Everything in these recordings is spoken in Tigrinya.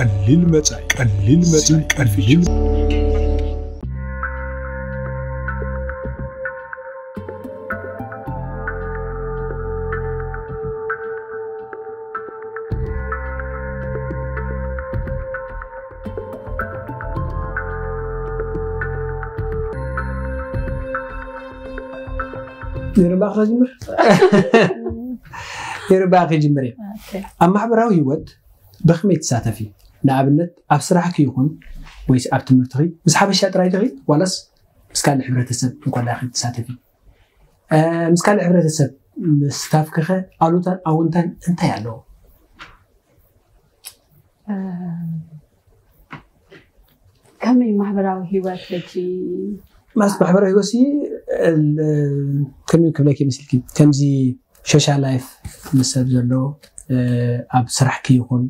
ቀሊል መጻኢ፣ ቀሊል መጻኢ፣ ቀሊል ይርባኽ ጀምር። ይርባኽ ጀምር። ኣብ ማሕበራዊ ህይወት ብኸመይ ትሳተፊ? ንኣብነት ኣብ ስራሕኪ ይኹን ወይስ ኣብ ትምህርትኺ ምስ ሓበሻ ጥራይ ዲኺ ዋላስ ምስ ካልእ ሕብረተሰብ እንኮላ ኢኺ ትሳተፊ? እ፣ ምስ ካልእ ሕብረተሰብ ምስታፍኪኸ ኣሉታን ኣውንታን እንታይ ኣለዎ? ከመይ ማሕበራዊ ህይወት ሕጂ ማለት ማሕበራዊ ህይወት ሲ እል- ከመይ ክብለኪ መስልኪ ከምዚ ሶሻል ላይፍ ምስ ሰብ ዘሎ እ፣ ኣብ ስራሕኪ ይኹን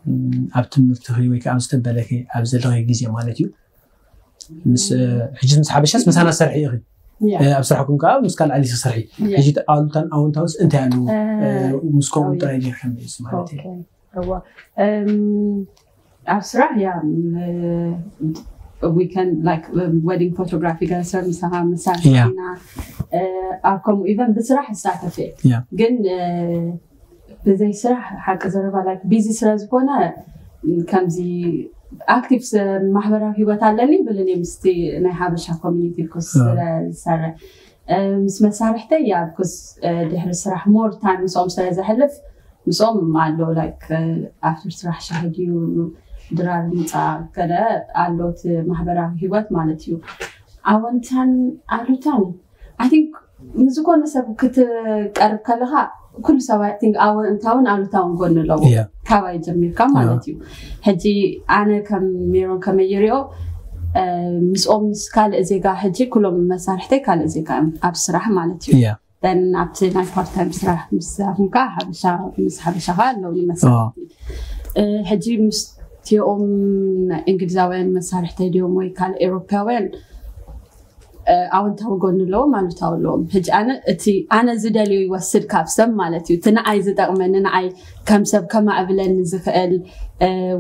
ም፣ ኣብ ትምህርትኺ ወይ ከዓ ኣብ ዝተበለኪ ኣብ ዘለኺ ግዜ ማለት እዩ ምስ እ፣ ሕጂ ምስ ሓበሻስ ምሳና ሰርሒ ኢኺ እ፣ ኣብ ስራሕኩም ከዓ ምስ ካልእ ዓሊ ሰርሒ ሕጂ ኣሉታን ኣውንታውስ እንታይ ኣለዎ እ፣ ምስ ከምኡ ጥራይ ጌርካ መልስ ማለት እዩ እዋ እም፣ ኣብ ስራሕ ያ weekend like wedding photography ገለ ሰብ ምሳኻ ምሳና ኣብ ከምኡ ኢቨን ብስራሕ ይሳተፍ እየ ግን ብዘይ ስራሕ ሓቂ ዘረባ like busy ስለ ዝኾነ ከምዚ ኣክቲቭ ማሕበራዊ ህይወት ኣለኒ ብልን ምስቲ ናይ ሓበሻ ኮሚኒቲ ኮስ ስለ ዝሰርሕ ምስ መሳርሕተይ ያ ኮስ ድሕሪ ስራሕ more time ምስኦም ስለ ዘሕልፍ ምስኦም ኣሎ like after ስራሕ ሻሂ ድዩ ድራር ምፃ ገለ ኣሎ እቲ ማሕበራዊ ህይወት ማለት እዩ ኣወንታን ኣሉታን I think ንዝኮነ ሰብ ክትቀርብ ከለካ ኩሉ ሰብ I think ኣወንታውን ኣሉታውን ጎኒ ኣለዎ ካባይ ጀሚርካ ማለት እዩ ሕጂ ኣነ ከም ሜሮን ከመይ ይሪኦ ምስኦም ምስ ካልእ ዜጋ ሕጂ ኩሎም መሳርሕተይ ካልእ ዜጋ እዮም ኣብ ስራሕ ማለት እዩ then ኣብቲ ናይ part time ስራሕ ምስ ኹንካ ሓበሻ ምስ ሓበሻ ከ ኣለውኒ መሳርሕቲ ሕጂ ምስቲኦም ናይ እንግሊዛውያን መሳርሕተይ ድዮም ወይ ካልእ ኤውሮፓውያን ኣወንታዊ ጎኒ ኣለዎም ኣሉታዊ ኣለዎም ሕጂ ኣነ እቲ ኣነ ዝደልዮ ይወስድ ካብ ሰብ ማለት እዩ እቲ ንዓይ ዝጠቕመኒ ንዓይ ከም ሰብ ከማዕብለኒ ዝኽእል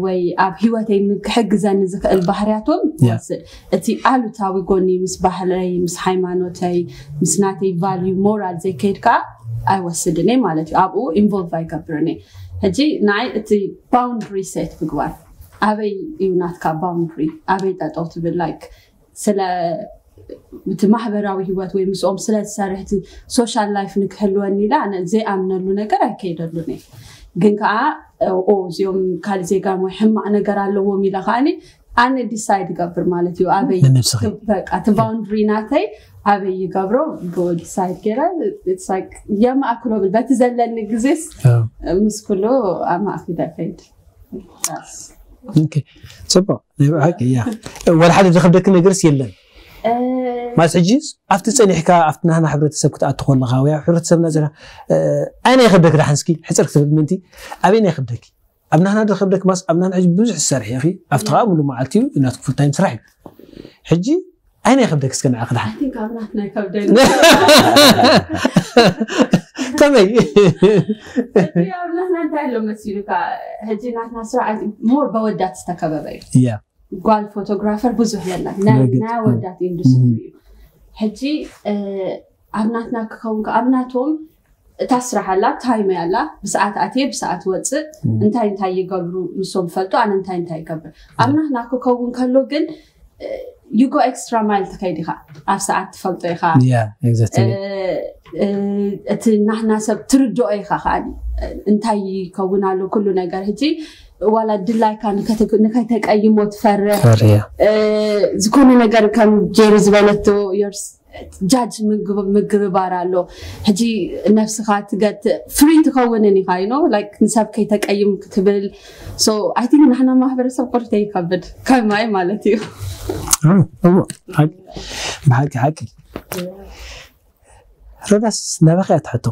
ወይ ኣብ ሂወተይ ክሕግዘኒ ዝኽእል ባህርያት እውን ይወስድ እቲ ኣሉታዊ ጎኒ ምስ ባህለይ ምስ ሃይማኖተይ ምስ ናተይ value moral ዘይከይድ ከዓ ኣይወስድን እየ ማለት እዩ ኣብኡ involve ኣይገብርን እየ ሕጂ ንዓይ እቲ boundary set ምግባር ኣበይ እዩ ናትካ boundary ኣበይ ጠጠው ትብል like ስለ እቲ ማሕበራዊ ህይወት ወይ ምስኦም ስለ ዝሰርሕ እቲ social life ንክህልወኒ ኢለ ኣነ ዘይኣምነሉ ነገር ኣይከይደሉን እየ ግን ከዓ ኦ እዚኦም ካልእ ዜጋ ወይ ሕማቕ ነገር ኣለዎም ኢለ ከዓኒ ኣነ decide ይገብር ማለት እዩ ኣበይ በቃ እቲ boundary ናተይ ኣበይ ይገብሮ decide ገይረ የማእክሎ ብል በቲ ዘለኒ ግዜስ ምስ ኩሉ ኣማእኪለ ከይድ ጽቡቅ ናይ ብሓቂ እያ ወላ ሓደ ዝኸብደኪ ነገርስ የለን ማለት ሕጂ ኣብቲ ፀኒሕካ ኣብቲ ናህና ሕብረተሰብ ክትኣቱ ከለካ ወይ ኣብ ሕብረተሰብና ዘላ ኣይ ናይ ከብደክ ዳሓንስኪ ሕፅር ክትብል ምንቲ ኣበይ ናይ ከብደኪ ኣብ ናህና ዶ ከብደክ ማስ ኣብ ናህና ሕጂ ብዙሕ ትሰርሒ ኢኺ ኣብቲ ከዓ ሙሉ መዓልቲ እዩ እናትኩ ፉል ታይም ስራሕ እዩ ሕጂ ኣይ ናይ ከብደክ እስከ ንዓኺ ዳሓን ከመይ ኣብ ናትና እንታይ ኣሎ መሲሉካ ሕጂ ናትና ስራሕ ሞር በወዳት ዝተከበበ እዩ ያ ጓል ፎቶግራፈር ብዙሕ የለን ናይ ናይ ኣወዳት ኢንዱስትሪ እዩ ሕጂ ኣብ ናትና ክኸውን ኣብ ናቶም እታ ስራሕ ኣላ ታይም ኣላ ብሰዓት ኣትየ ብሰዓት ወፅእ እንታይ እንታይ ይገብሩ ንሶም ፈልጡ ኣነ እንታይ እንታይ ይገብር ኣብ ናትና ክኸውን ከሎ ግን you go extra mile ትኸይድ ኢኻ ኣብ ሰዓት ትፈልጦ ኢኻ yeah exactly እቲ ናህና ሰብ ትርድኦ ኢኻ ከዓ እንታይ ይከውን ኣሎ ኩሉ ነገር ሕጂ ዋላ ድላይካ ንከይተቀይሞ ትፈርሕ ዝኾነ ነገር ከም ጀሪ ዝበለቶ ጃጅ ምግብባር ኣሎ ሕጂ ነብስኻ ትገትእ ፍሪ ትኸውንን ኢኻ ዩ ላይክ ንሰብ ከይተቀይም ክትብል so I think ንሕና ማሕበረሰብ ቁርተ ይከብድ ከማይ ማለት እዩ ብሓቂ ሓቂ ሮዳስ ናባኺ እያ ትሕቶ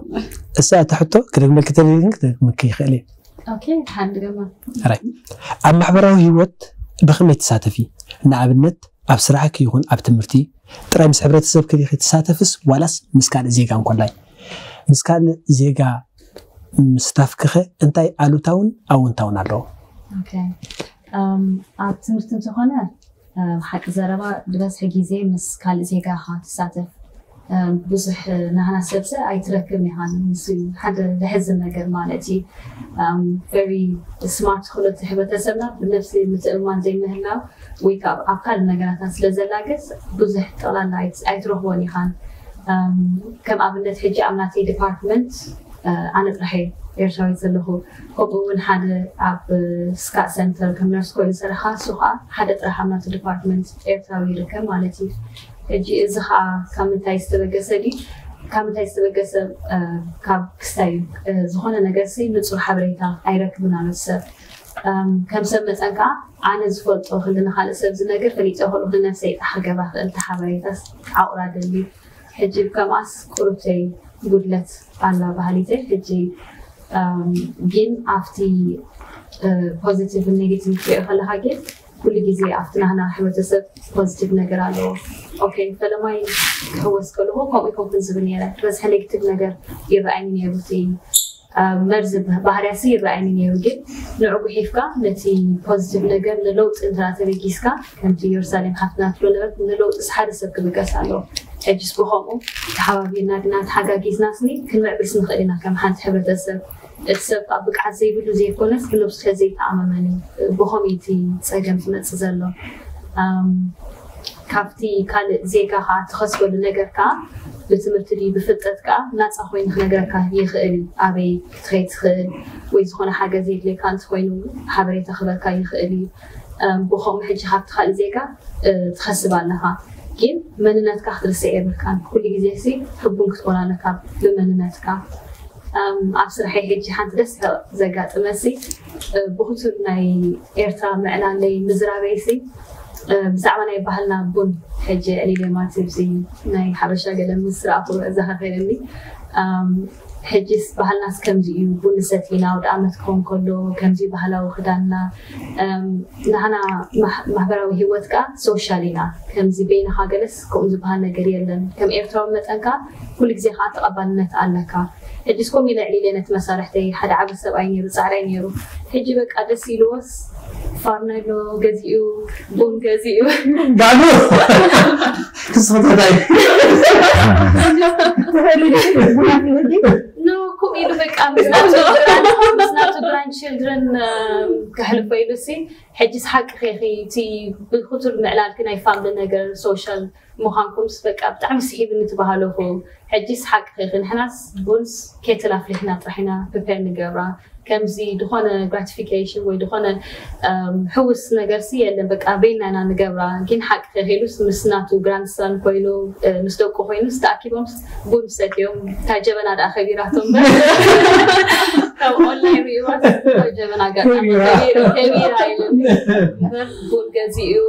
እሳ እያ ትሕቶ ክደግመልኪ ተደሊግን ክደግመልኪ ይኽእል እየ Okay ሓንቲ ገማ ራይ ኣብ ማሕበራዊ ህይወት ብኸመይ ትሳተፊ ንኣብነት ኣብ ስራሕኪ ይኹን ኣብ ትምህርቲ ጥራይ ምስ ሕብረተሰብ ክዲኺ ትሳተፍስ ዋላስ ምስ ካልእ ዜጋ እንኮላይ ምስ ካልእ ዜጋ ምስታፍክኸ እንታይ ኣሉታውን ኣውንታውን ኣለዎ Okay. ኣብ ትምህርቲ እንተኾነ ሓቂ ዘረባ ዝበዝሐ ግዜ ምስ ካልእ ዜጋ ኢኻ ትሳተፍ። ብዙሕ ናህና ሰብሰ ኣይትረክብን ኢኻ። ንሱ ሓደ ዘሕዝን ነገር ማለት እዩ። Very smart ክሎ እቲ ሕብረተሰብና ብነብሲ ምትእምማን ዘይምህላው ወይ ከዓ ኣብ ካልእ ነገራታት ስለ ዘላገስ ብዙሕ ጠቕላላ ኣይትረኽቦን ኢኻን። ከም ኣብነት ሕጂ ኣብ ናተይ ዲፓርትመንት ኣነ ጥራሕ እየ ኤርትራዊት ዘለኹ። ከምኡ እውን ሓደ ኣብ ስካት ሰንተር ከም ነርስ ኮይኑ ዝሰርሓ እሱ ከዓ ሓደ ጥራሕ ኣብ ናቱ ዲፓርትመንት ኤርትራዊ ይርከብ ማለት እዩ። ሕጂ እዚ ከዓ ካብ ምንታይ ዝተበገሰ ድዩ? ካብ ምንታይ ዝተበገሰ? ካብ ክስታይ እዩ። ዝኾነ ነገር ሲ ንፁር ሓበሬታ ኣይረክብን ኣሎ ሰብ። ከም ሰብ መጠን ከዓ ኣነ ዝፈልጦ ክንዲ ንካልእ ሰብ ዝነግር ፈሊጠ ከለኹ ንነብሰይ ጥራሕ ክገብራ ክእል። እቲ ሓበሬታስ ዓቑራ ደሊ ሕጂ ከምኣስ ቁሩብተይ ጉድለት ኣላ ባህሊተይ። ሕጂ ግን ኣብቲ ፖዚቲቭ ኔጌቲቭ ክትሪኦ ከለካ ግን ኩሉ ግዜ ኣብቲ ናህና ሕብረተሰብ ፖዚቲቭ ነገር ኣለዎ። ኦኬ፣ ፈለማይ ክህወስ ከለኹ ከምኡ ይኮንኩን ዝብል ነረ። ዝበዝሐ ኔጌቲቭ ነገር ይረኣይኒ ነይሩ። እቲ መርዚ ባህርያሲ ይረኣይኒ ነይሩ። ግን ንዑ ጉሒፍካ ነቲ ፖዚቲቭ ነገር ንለውጢ እንተ ተበጊስካ ከምቲ ኢየሩሳሌም ሓፍትና ትብሎ ነበረት ንለውጢ ሓደ ሰብ ክብገስ ኣለዎ። ሕጅስ ብኸምኡ ተሓባቢርና ግና ተሓጋጊዝና ስኒ ክንምዕብል ንኽእል ኢና ከም ሓንቲ ሕብረተሰብ። እቲ ሰብ ከዓ ብቅዓት ዘይብሉ ዘይኮነስ ብነብሱ ስለዘይተኣማመን እዩ ብኸምኡ እቲ ፀገም ዝመፅእ ዘሎ። ካብቲ ካልእ ዜጋ ከዓ ትኸስበሉ ነገር ከዓ ብትምህርቲ ድዩ ብፍልጠት ከዓ ናፃ ኮይኑ ክነግረካ ይኽእል እዩ። ኣበይ ክትኸይ ትኽእል ወይ ዝኾነ ሓገዝ የድልየካ እንተኮይኑ ሓበሬታ ክበካ ይኽእል እዩ። ብኸምኡ ሕጂ ካብቲ ካልእ ዜጋ ትኸስብ ኣለኻ፣ ግን መንነትካ ክትርስዕ የብልካን። ኩሉ ግዜ ሲ ሕቡን ክትኮን ኣለካ ብመንነትካ። ኣብ ስራሐይ ሕጂ ሓንቲ ደስ ዘጋጥመሲ ብክቱር ናይ ኤርትራ ምዕላለይ ምዝራበይሲ ብዛዕባ ናይ ባህልና ቡን ሕጂ ዕሊለ ማለት እዚ ናይ ሓበሻ ገለ ምስ ረኣኹ እዛ ከፈለኒ ሕጂስ ባህልናስ ከምዚ እዩ፣ ቡን ሰቲና ወደ ዓመት ክኸውን ከሎ ከምዚ ባህላዊ ክዳንና ናህና ማሕበራዊ ህይወት ከዓ ሶሻል ኢና። ከምዚ በይንኻ ገለስ ከምኡ ዝበሃል ነገር የለን። ከም ኤርትራዊ መጠን ከዓ ኩሉ ግዜ ከዓ ተቐባልነት ኣለካ። ሕጂስ ከምኡ ኢለ ዕሊለ ነቲ መሳርሕተይ ሓደ ዓቢ ሰብኣይ ነይሩ፣ ጻዕራይ ነይሩ። ሕጂ በቃ ደስ ኢልዎስ ፋርነሎ ገዚኡ ቡን ገዚኡ ባዶ ክስፈታታይ ኖ ከምኡ ኢሉ በቃ ምስ ናቱ ግራንድ ችልድረን ከሕልፎ ኢሉ ሲ ሕጂስ ሓቂ ኸኺ እቲ ብክቱር ምዕላልኪ ናይ ፋምሊ ነገር ሶሻል ምዃንኩምስ በቃ ብጣዕሚ ስሒብኒ ትበሃለኹ። ሕጂስ ሓቂ ኸኺ ንሕናስ ቡንስ ኬትል ኣፍሊሕና ጥራሕ ኢና ፕሪፔር ንገብራ። ከምዚ ዝኾነ ግራቲፊኬሽን ወይ ዝኾነ ሕውስ ነገርሲ የለን። በቃ በይና ኢና ንገብራ። ግን ሓቂ ኸኺ ኢሉስ ምስ ናቱ ግራንድሰን ኮይኑ ምስ ደቁ ኮይኑስ ተኣኪቦምስ ቡን ሰትዮም እታ ጀበና ደኣ ከቢራቶም እምበር ካብ ኦንላይን ሪእዋስ እታ ጀበና ኣጋጣሚ ከቢራ ኢሉኒ እምበር ቡን ገዚኡ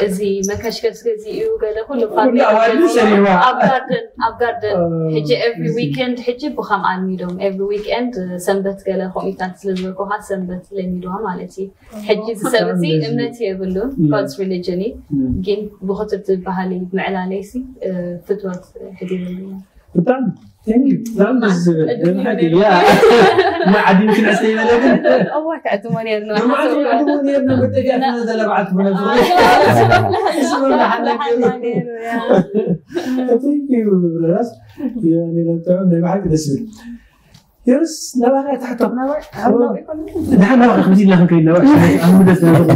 እዚ መከሽከስ ገዚኡ ገለ ኩሉ ፋሚሊ ኣዋልዱ ሰሪዋ ኣብ ጋርደን ኣብ ጋርደን ሕጂ ኤቭሪ ዊኬንድ ሕጂ ብኸም ኣልሚዶም ኤቭሪ ዊኬንድ ሰንበት ገለ ኮሚታት ስለ ዝበልኩኻ ሰንበት ለሚድዋ ማለት እዩ። ሕጂ ዝሰብ እዚ እምነት የብሉን God's religion እዩ። ግን ብክቱር ዝበሃል እዩ ምዕላለይሲ ፍትወት ሕዲርሉ ብጣዕሚ ብጣዕሚ ደስ ዝብል ደምሓት እዩ ያ ማዕድን ክንዕስተ ይበለግን እዋ ክዕድሞ ነርና ማዕድን ክዕድሞ ነርና መጠጊያ ስለዘለብዓት ብነሱ ራስ ናይ ብሓቂ ደስ ዝብል የርስ ናባኻ ትሕቶ ንሓ ናባኻ ከምዚ ኢልና ክንከይድ ናባኻ ኣብ ደስ ናባኻ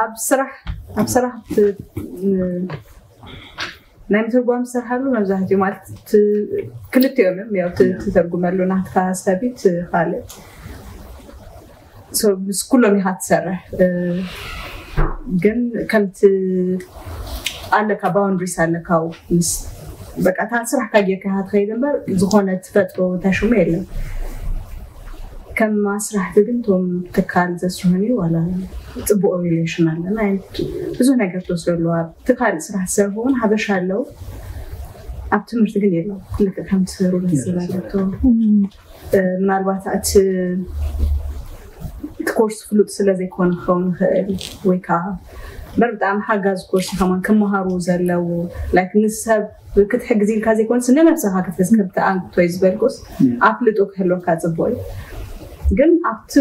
ኣብ ስራሕ ኣብ ስራሕ ናይ ምትርጓም ዝሰርሓሉ መብዛሕትኡ ማለት ክልቲኦም እዮም ያው ትተርጉመሉ ናትካ ሰቢት ካልእ ምስ ኩሎም ኢኻ ትሰርሕ ግን ከምቲ ኣለካ ባውንድሪስ ኣለካ ምስ በቃ እታ ስራሕካ ጌርካ ኢኻ ትኸይድ እምበር ዝኾነ ትፈጥሮ ተሹሙ የለን ከም ኣስራሕቲ ግን እቶም ትካል ዘስርሑኒ ዋላ ፅቡቅ ሪሌሽን ኣለና ብዙሕ ነገር ትወስደሉ ኣብቲ ካልእ ስራሕ ዝሰርሑ እውን ሓበሻ ኣለዉ ኣብ ትምህርቲ ግን የለው ልክዕ ከም ትሰሩ ደስ ዝበለቶ ምናልባት እቲ እቲ ኮርስ ፍሉጥ ስለ ዘይኮነ ክኸውን ይኽእል ወይ ከዓ በር ብጣዕሚ ሓጋዚ ኮርስ ከማን ክመሃሩ ዘለዎ ላይክ ንሰብ ክትሕግዝ ኢልካ ዘይኮንስ ንነብስኻ ክትሕዝ ከምቲ ኣንቶይ ዝበልኩስ ኣፍልጦ ክህልወካ ፅቡቅ እዩ። ግን ኣብቲ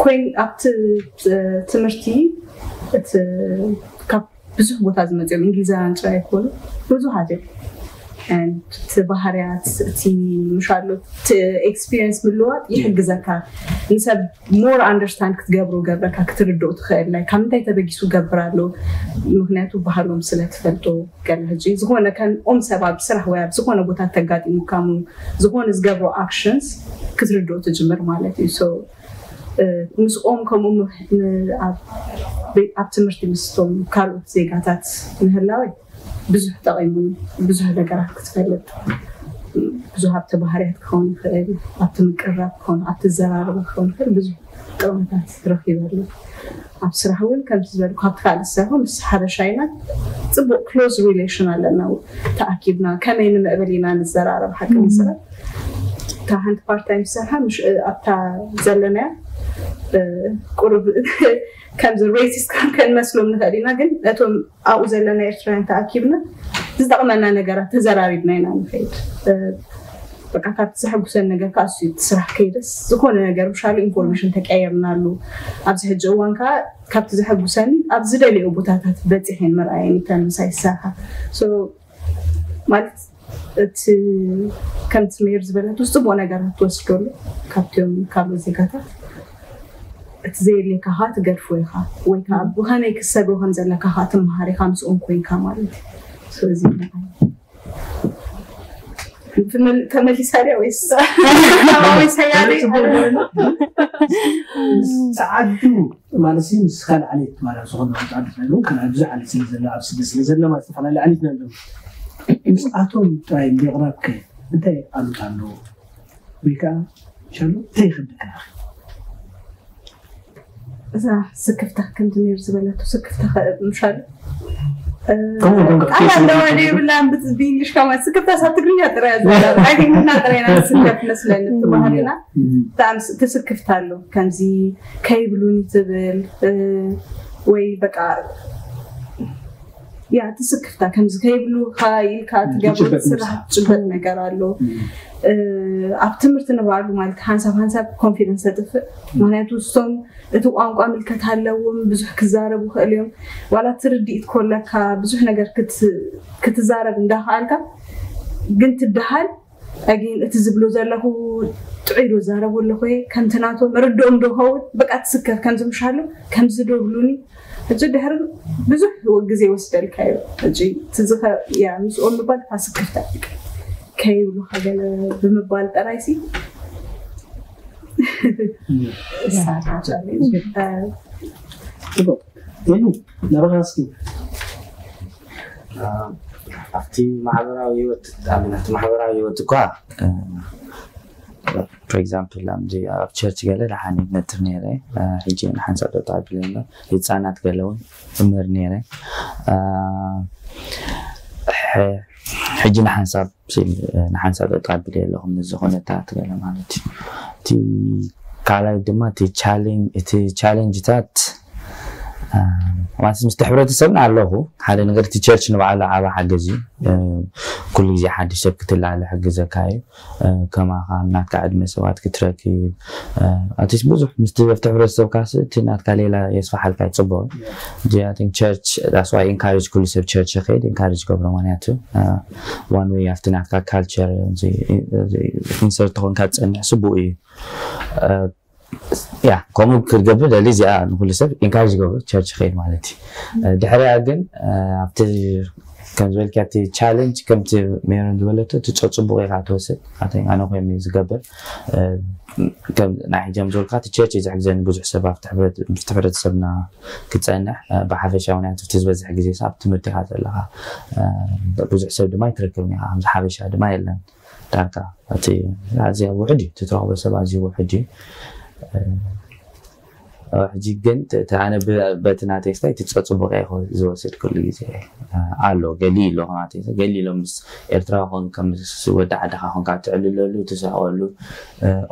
ኮይን ኣብቲ ትምህርቲ እቲ ካብ ብዙሕ ቦታ ዝመፅኦም እንግሊዛውያን ጥራይ ኣይኮኑ ብዙሓት እዮም። እቲ ባህርያት እቲ ምሻሎ እቲ ኤክስፒሪንስ ምልዋጥ ይሕግዘካ ንሰብ more understand ክትገብሮ ገብረካ ክትርድኦ ትኽእል ናይ ካብ ምንታይ ተበጊሱ ገብር ኣሎ። ምክንያቱ ባህሎም ስለ ትፈልጦ ገለ ሕጂ ዝኾነ ከምኦም ሰብ ኣብ ስራሕ ወይ ኣብ ዝኾነ ቦታ ተጋጢሙካሙ ዝኾነ ዝገብሮ ኣክሽንስ ክትርድኦ ትጅምር ማለት እዩ። ምስኦም ከምኡ ኣብ ትምህርቲ ምስቶም ካልኦት ዜጋታት ምህላወይ ብዙሕ ጠቒሙኒ። ብዙሕ ነገራት ክትፈልጥ ብዙሕ ኣብቲ ባህርያት ክኸውን ይኽእል ኣብቲ ምቅርራብ ክኸውን ኣብቲ ዘራርባ ክኸውን ይኽእል ብዙሕ ጥቕምታት ረኺበሉ። ኣብ ስራሕ እውን ከምቲ ዝበልኩ ካብቲ ካልእ ዝሰርሖ ምስ ሓበሻ ኢና ፅቡቅ ክሎዝ ሪሌሽን ኣለና። ተኣኪብና ከመይ ንምዕብል ኢና ንዘራረብ ሓቂ ምስራት እታ ሓንቲ ፓርታይ ምስ ሰርሓ ኣብታ ዘለናያ ቁሩብ ከምዚ ሬሲስት ከም ከንመስሎም ንኽእል ኢና ግን ነቶም ኣብኡ ዘለና ኤርትራውያን ተኣኪብና ዝጠቕመና ነገራት ተዘራሪብና ኢና ንኸይድ። በቃ ካብቲ ዘሐጉሰን ነገር ከዓ እሱ እቲ ስራሕ ከይደስ ዝኾነ ነገር ምሻሉ ኢንፎርሜሽን ተቀየርናሉ ኣብዚ ሕጂ እዋን ከዓ ካብቲ ዘሐጉሰኒ ኣብ ዝደልዮ ቦታታት በፂሐን ምርኣየን ይተን ምሳይ ዝሰርሓ ማለት እቲ ከምቲ ሜር ዝበለቱ ፅቡቅ ነገራት ትወስደሉ ካብቲኦም ካልኦት ዜጋታት እቲ ዘየድልየካ ከዓ ትገድፎ ኢኻ ወይ ከዓ ብኸመይ ክትሰግሮ ከም ዘለካ ከዓ ትመሃር ኢኻ ምስኦም ኮይንካ ማለት እዩ። ስለዚ ተመሊሳ ድያ ወይስ ወይ ሰያደ ጸዓዱ ማለት ሲ ምስ ካልእ ዓሌት ማለት ዝኾነ ጸዓዱ ናይ ካልእ ብዙሕ ዓሌት ስለ ዘሎ ኣብ ስደት ስለ ዘሎ ማለት ዝተፈላለዩ ዓሌት ናይ ኣለዉ ምስኣቶም ጥራይ ምቕራብከ እንታይ ኣሉታ ኣለዎ ወይ ከዓ ሻሉ እንታይ ይኸብደካ እዛ ስክፍታ ከምቲ ሜር ዝበለቶ ስክፍታ ምሻል ቃል ኣለዋ ዘይብላ ብእንግሊሽ ከማ ስክፍታ ሳብ ትግርኛ ጥራይ ዘላ ትግርኛ ጥራይ ና ስክፍታ መስለኒ ትባህልና ብጣዕሚ ትስክፍታ ኣሎ ከምዚ ከይብሉኒ ትብል ወይ በቃ ያ ትስክፍታ ከምዚ ከይብሉካ ኢልካ ትገብሮ ስራሕ ትጭበጥ ነገር ኣሎ ኣብ ትምህርቲ ንባዕሉ ማለት ሓንሳብ ሓንሳብ ኮንፊደንስ ተጥፍእ ምክንያቱ እሶም እቲ ቋንቋ ምልከት ኣለዎም ብዙሕ ክዛረቡ ክእል እዮም ዋላ ትርድኢት ኮለካ ብዙሕ ነገር ክትዛረብ እንዳክኣልካ ግን ትደሃል ኣጊን እቲ ዝብሎ ዘለኹ ጥዑይ ዶ ዛረቡ ኣለኹ ከምቲ ናቶም ርድኦም ዶ ኸውን በቃ ትስከፍ ከምዚ ምሻሉ ከምዚ ዶ ብሉኒ ሕጂ ድሕሪ ብዙሕ ግዜ ይወስደልካ እዩ ሕጂ ትዝኸ ያ ምስኦም ምባል ፋስክፍታ ከይብሉካ ገለ ብምባል ጥራይ ሲ ናባኻ እስኪ ኣብቲ ማሕበራዊ ህይወት ኣብነት ማሕበራዊ ህይወት እኳ for example ኣምዚ ኣብ ቸርች ገለ ደሓን ነጥር ነይረ ሕጂ ንሓንሳብ ጠጣ ኣቢለ ኣሎ ህፃናት ገለ እውን እምህር ነይረ ሕጂ ንሓንሳብ ንሓንሳብ ጠጣ ኣቢለ ኣለኹ ምስ ዝኾነታት ገለ ማለት እዩ እቲ ካልኣይ ድማ እቲ ቻሌንጅታት ማለት ምስቲ ሕብረተሰብና ኣለኹ ሓደ ነገር እቲ ቸርች ንባዕሉ ዓባ ሓገዝ እዩ ኩሉ ግዜ ሓድሽ ሰብ ክትላለ ሕግዘካ እዩ ከማኻ ናትካ ዕድመ ሰባት ክትረክብ ኣትስ ብዙሕ ምስቲ ኣብቲ ሕብረተሰብካ እቲ ናትካ ሌላ የስፋሓልካ ይፅቡቅ ቸርች ዳስዋይ ኢንካሬጅ ኩሉ ሰብ ቸርች ይኸይድ ኢንካሬጅ ገብሮ ምክንያቱ ዋን ወይ ኣብቲ ናትካ ካልቸር ኢንሰርት ተኾንካ ትፀንሕ ስቡቅ እዩ ያ ከምኡ ክትገብር ደሊ እዚኣ ንኩሉ ሰብ ኢንካሬጅ ገብሩ ቸርች ኸይድ ማለት እዩ ድሕሪያ ግን ኣብቲ ከም ዝበልካ እቲ ቻለንጅ ከምቲ ሜሮን ዝበለቶ እቲ ጸጽቡቕ ኢኻ ትወስድ ኣነ ኮይኑ ዝገብር ናይ ሕጂ ከም ዝበልካ እቲ ቸርች እዩ ዝሕግዘኒ ብዙሕ ሰብ ኣብቲ ሕብረተሰብና ክፀንሕ ብሓፈሻ ምክንያቱ እቲ ዝበዝሕ ግዜ ኣብ ትምህርቲ ኢኻ ዘለኻ ብዙሕ ሰብ ድማ ኣይትረክብን ኢኻ ከምዚ ሓበሻ ድማ የለን ዳርጋ እቲ ኣዝያ ውሕድ እዩ ትትረኽቦ ሰብ ኣዝዩ ውሕድ እዩ ሕጂ ግን ተ- ተ- ኣነ ብ- በቲ ናተይ ስታይ እቲ ጸጽቡቕ እየ ዝወስድ ኩሉ ግዜ። ኣሎ ገሊ ኣሎ ናተይ ገሊ ኣሎ ምስ ኤርትራ ኮንካ ምስ ወዲ ዓድኻ ኮንካ ትዕልለሉ ትስሕቐሉ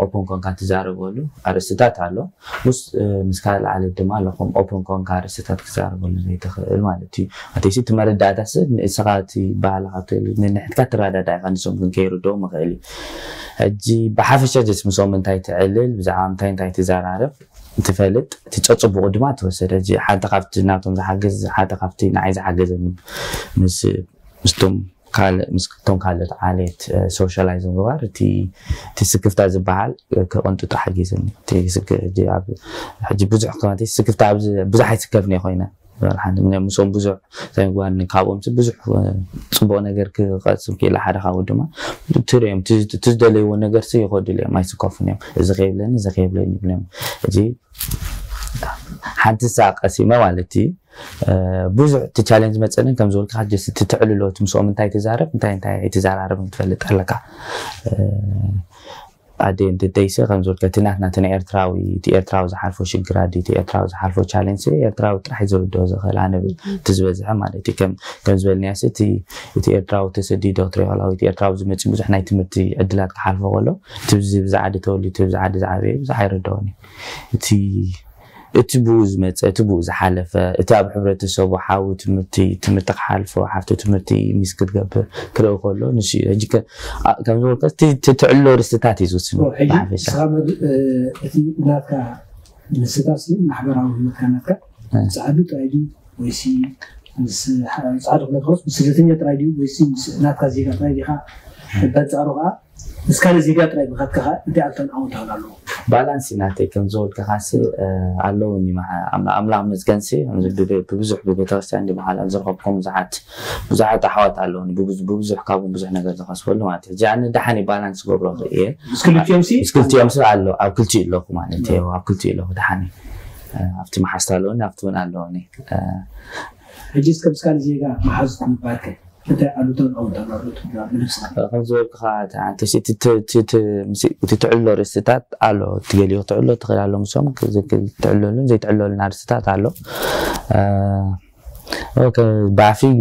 ኦፕን ኮንካ ትዛረበሉ ኣርእስትታት ኣሎ። ምስ ምስ ካልእ ዓሌት ድማ ኣለኹም ኦፕን ኮንካ ኣርእስትታት ክዛረበሉ ዘይትኽእል ማለት እዩ። ኣተይሲ እቲ መረዳእታስ ንስኻ እቲ ባህልኻ ትል ንንሕትካ ትረዳዳ ኢኻ ንሶም ግን ከይርድኦም ይኽእል እዩ። ሕጂ ብሓፈሻ ጀስ ምስኦም እንታይ ትዕልል ብዛዕባ እንታይ እንታይ ትዘራርብ ትፈልጥ እቲ ጸጽቡቑ ድማ ትወሰደ። ሕጂ ሓንቲ ካብቲ ናቶም ዝሓገዝ ሓንቲ ካብቲ ንዓይ ዝሓገዘኒ ምስ ምስቶም ካልእ ምስቶም ካልኦት ዓሌት ሶሻላይዝ ምግባር እቲ እቲ ስክፍታ ዝበሃል ክቕንጥጡ ሓጊዝኒ። እቲ ስክ- ሕጂ ኣብ- ሕጂ ብዙሕ ከማቲ ስክፍታ ኣብዚ ብዙሕ ኣይስከፍን እየ ኮይነ ሓንቲ ምክንያት ምስኦም ብዙሕ ዘይምግባር ካብኦም ብዙሕ ጽቡቕ ነገር ክቐስም ክኢለ ሓደ ካብኡ ድማ ትርእዮም እቲ ዝደለይዎ ነገር ይኸዱሉ እዮም ኣይስከፉን እዮም። እዚ ከይብለኒ እዚ ከይብለኒ ይብሎም። እዚ ሓንቲ ሳዕ ቀሲመ ማለት እዩ። ብዙሕ እቲ ቻሌንጅ መፀንን ከም ዝበልካ ጀስት እቲ ትዕልሎ እቲ ምስኦም እንታይ ትዛረብ እንታይ እንታይ ኣይትዘራረብን ክትፈልጥ ኣለካ። ኣደ ደይሰ ከም ዝበልካ እቲ ናትና እቲ ናይ ኤርትራዊ እቲ ኤርትራዊ ዝሓልፎ ሽግር ኣዲ እቲ ኤርትራዊ ዝሓልፎ ቻሌንጅ ኤርትራዊ ጥራሕ ዝርድኦ ዝኽእል ኣነ እቲ ዝበዝሐ ማለት እዩ። ከም ከም ዝበልናዮ እቲ እቲ ኤርትራዊ ተሰዲዶ ትሪኦ እቲ ኤርትራዊ ዝመፅእ ብዙሕ ናይ ትምህርቲ ዕድላት ክሓልፎ ከሎ እቲ ብዚ ብዛዕዲ ተወሊዱ እቲ ብዛዕዲ ዝዓበየ ብዙሕ ኣይርድኦን እዩ። እቲ እቲ ብኡ ዝመፀ እቲ ብኡ ዝሓለፈ እቲ ኣብ ሕብረተሰቡ ሓዊ ትምህርቲ ትምህርቲ ክሓልፎ ሓፍቲ ትምህርቲ ሚስ ክትገብር ክርኢ ከሎ ንሱ እዩ ሕጂ ከም ዝበልካ ትዕሎ ርስትታት እዩ ዝውስኑ። እቲ ናትካ ንስታሲ ማሕበራዊ ህይወትካ ናትካ ፃዕዱ ጥራይ ድዩ ወይሲ ፃዕዱ ክነትኸስ ስደተኛ ጥራይ ድዩ ወይሲ ናትካ ዜጋ ጥራይ ዲካ በንፃሩ ከዓ እስካለ ዜጋ ጥራይ ብኸትካ እንታይ ኣልታን ኣወንታን ኣለዎ? ባላንስ እዩ ናተይ ከም ዝበልካኻሲ ኣለውኒ ኣምላኽ መስገንሲ ብብዙሕ ብቤተክርስትያን ዝበሃል ኣብ ዝረኸብኩም ብዙሓት ብዙሓት ኣሕዋት ኣለውኒ ብብዙሕ ካብም ብዙሕ ነገር ዝኸስበሉ ማለት እዩ። እዚኣ ንደሓን ባላንስ ገብሮ እየ። ምስ ክልቲኦም ኣሎ ኣብ ክልቲኡ ኣለኹ ማለት እዩ። ኣብ ክልቲኡ ኣለኹ ደሓን ኣብቲ መሓዝቲ ኣለውኒ ኣብቲ እውን ኣለውኒ። ሕጂ እስከ ምስካል ዜጋ መሓዙት ምባርከ እንታይ ኣሉታን ኣወንታን ኣሎ ትብላ ብነብስኻ? ከም ዝበልኩኻ እቲ ትዕሎ ርእስታት ኣሎ ትገሊኡ ክትዕሎ ትኽእል ኣሎ ምሶም ትዕለሉን ዘይትዕለሉን ኣርእስታት ኣሎ።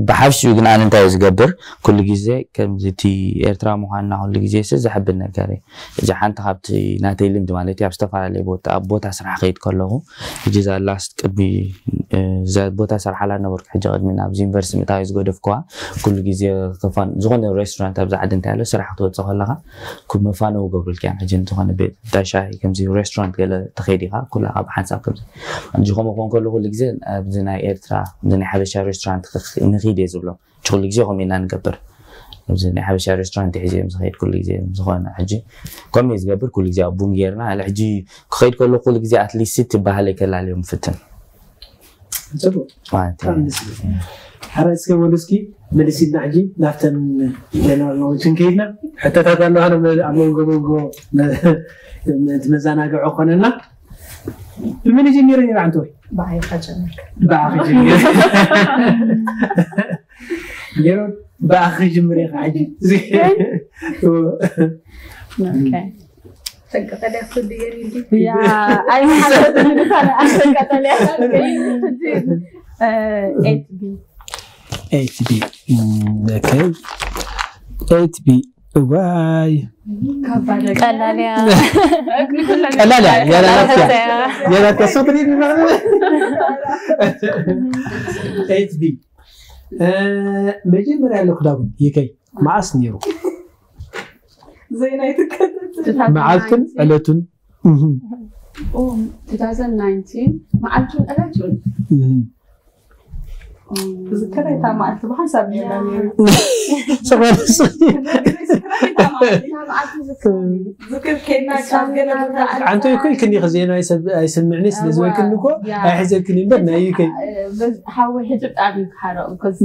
ብሓፍሽኡ ግን ኣነ እንታይ ዝገብር ኩሉ ግዜ ከምዚ እቲ ኤርትራ ምዃንና ኩሉ ግዜ ሲ ዘሕብን ነገር እዩ። እዚ ሓንቲ ካብቲ ናተይ ልምዲ ማለት እዩ ኣብ ዝተፈላለየ ቦታ ኣብ ቦታ ስራሕ ከይድ ከለኹ ሕጂ እዛ ላስት ቅድሚ እዛ ቦታ ሰርሓላ ነበርኩ ሕጂ ቅድሚ ናብዚ ዩኒቨርሲቲ ምእታዊ ዝገደፍኩዋ ኩሉ ግዜ ዝኾነ ሬስቶራንት ኣብዚ ዓዲ እንታይ ኣሎ ስራሕ ክትወፅእ ከለካ መፋነው ገብሩልካ እዮም ሕጂ ዝኾነ ቤት ሻሂ ከምዚ ሬስቶራንት ገለ ተኸይድ ኢኻ ኩላካ ብሓንሳብ ከምዚ ከምኡ ክኾን ከሎ ኩሉ ግዜ ኣብዚ ናይ ኤርትራ ናይ ሓበሻ ሬስቶራንት ንኺድ እየ ዝብሎም ኩሉ ግዜ ከምኡ ኢና ንገብር። ኣብዚ ናይ ሓበሻ ሬስቶራንት ሒዘ እዮም ዝኸይድ ኩሉ ግዜ ዝኾነ ሕጂ ከምኡ እዩ ዝገብር ኩሉ ግዜ ኣብ ቡን ጌርና ኣለ ሕጂ ክኸይድ ከሎ ኩሉ ግዜ ኣትሊስት እቲ ባህለይ ከላልዮም ፍትን። ጽቡቅ። ሓራይ እስከ ወሉ እስኪ መልስ ኢልና ሕጂ ናብተን ጀነራል ኖሌጅ ክንከይድና ሕቶታት ኣለዋ ኣብ መንጎ መንጎ እቲ መዘናግዒ ኮነና ብመን ጀሚረ ነይሩ ዓንተ ወይ ብዓይኻ ጀምር ብዓኺ ጀሚረ ጌሮን ብኣኺ ጅምር ኢኻ ሕጂ ኤት ቢ ዋይ ቀላልያ ቀላልያ ያላላትያ ያላትያ ሶትሪ ኤት ቢ መጀመርያ ኣለኩ ዳዊት ይከይ መዓስ ነይሩ መዓልትን ዕለቱን መዓልቱን ዕለቱን ዝከረ እታ መዓልቲ ብሓንሳብ ነርና ነይሩ ዝክር ኬድና ዓንተ ይኮ ይክኒ ዜና ኣይሰምዕኒ ስለ ዝበልክኒ እኮ ኣይሕዘልክኒ እምበር ናይ ይከይ ሓወይ ሕጂ ብጣዕሚ ክሓረቕ because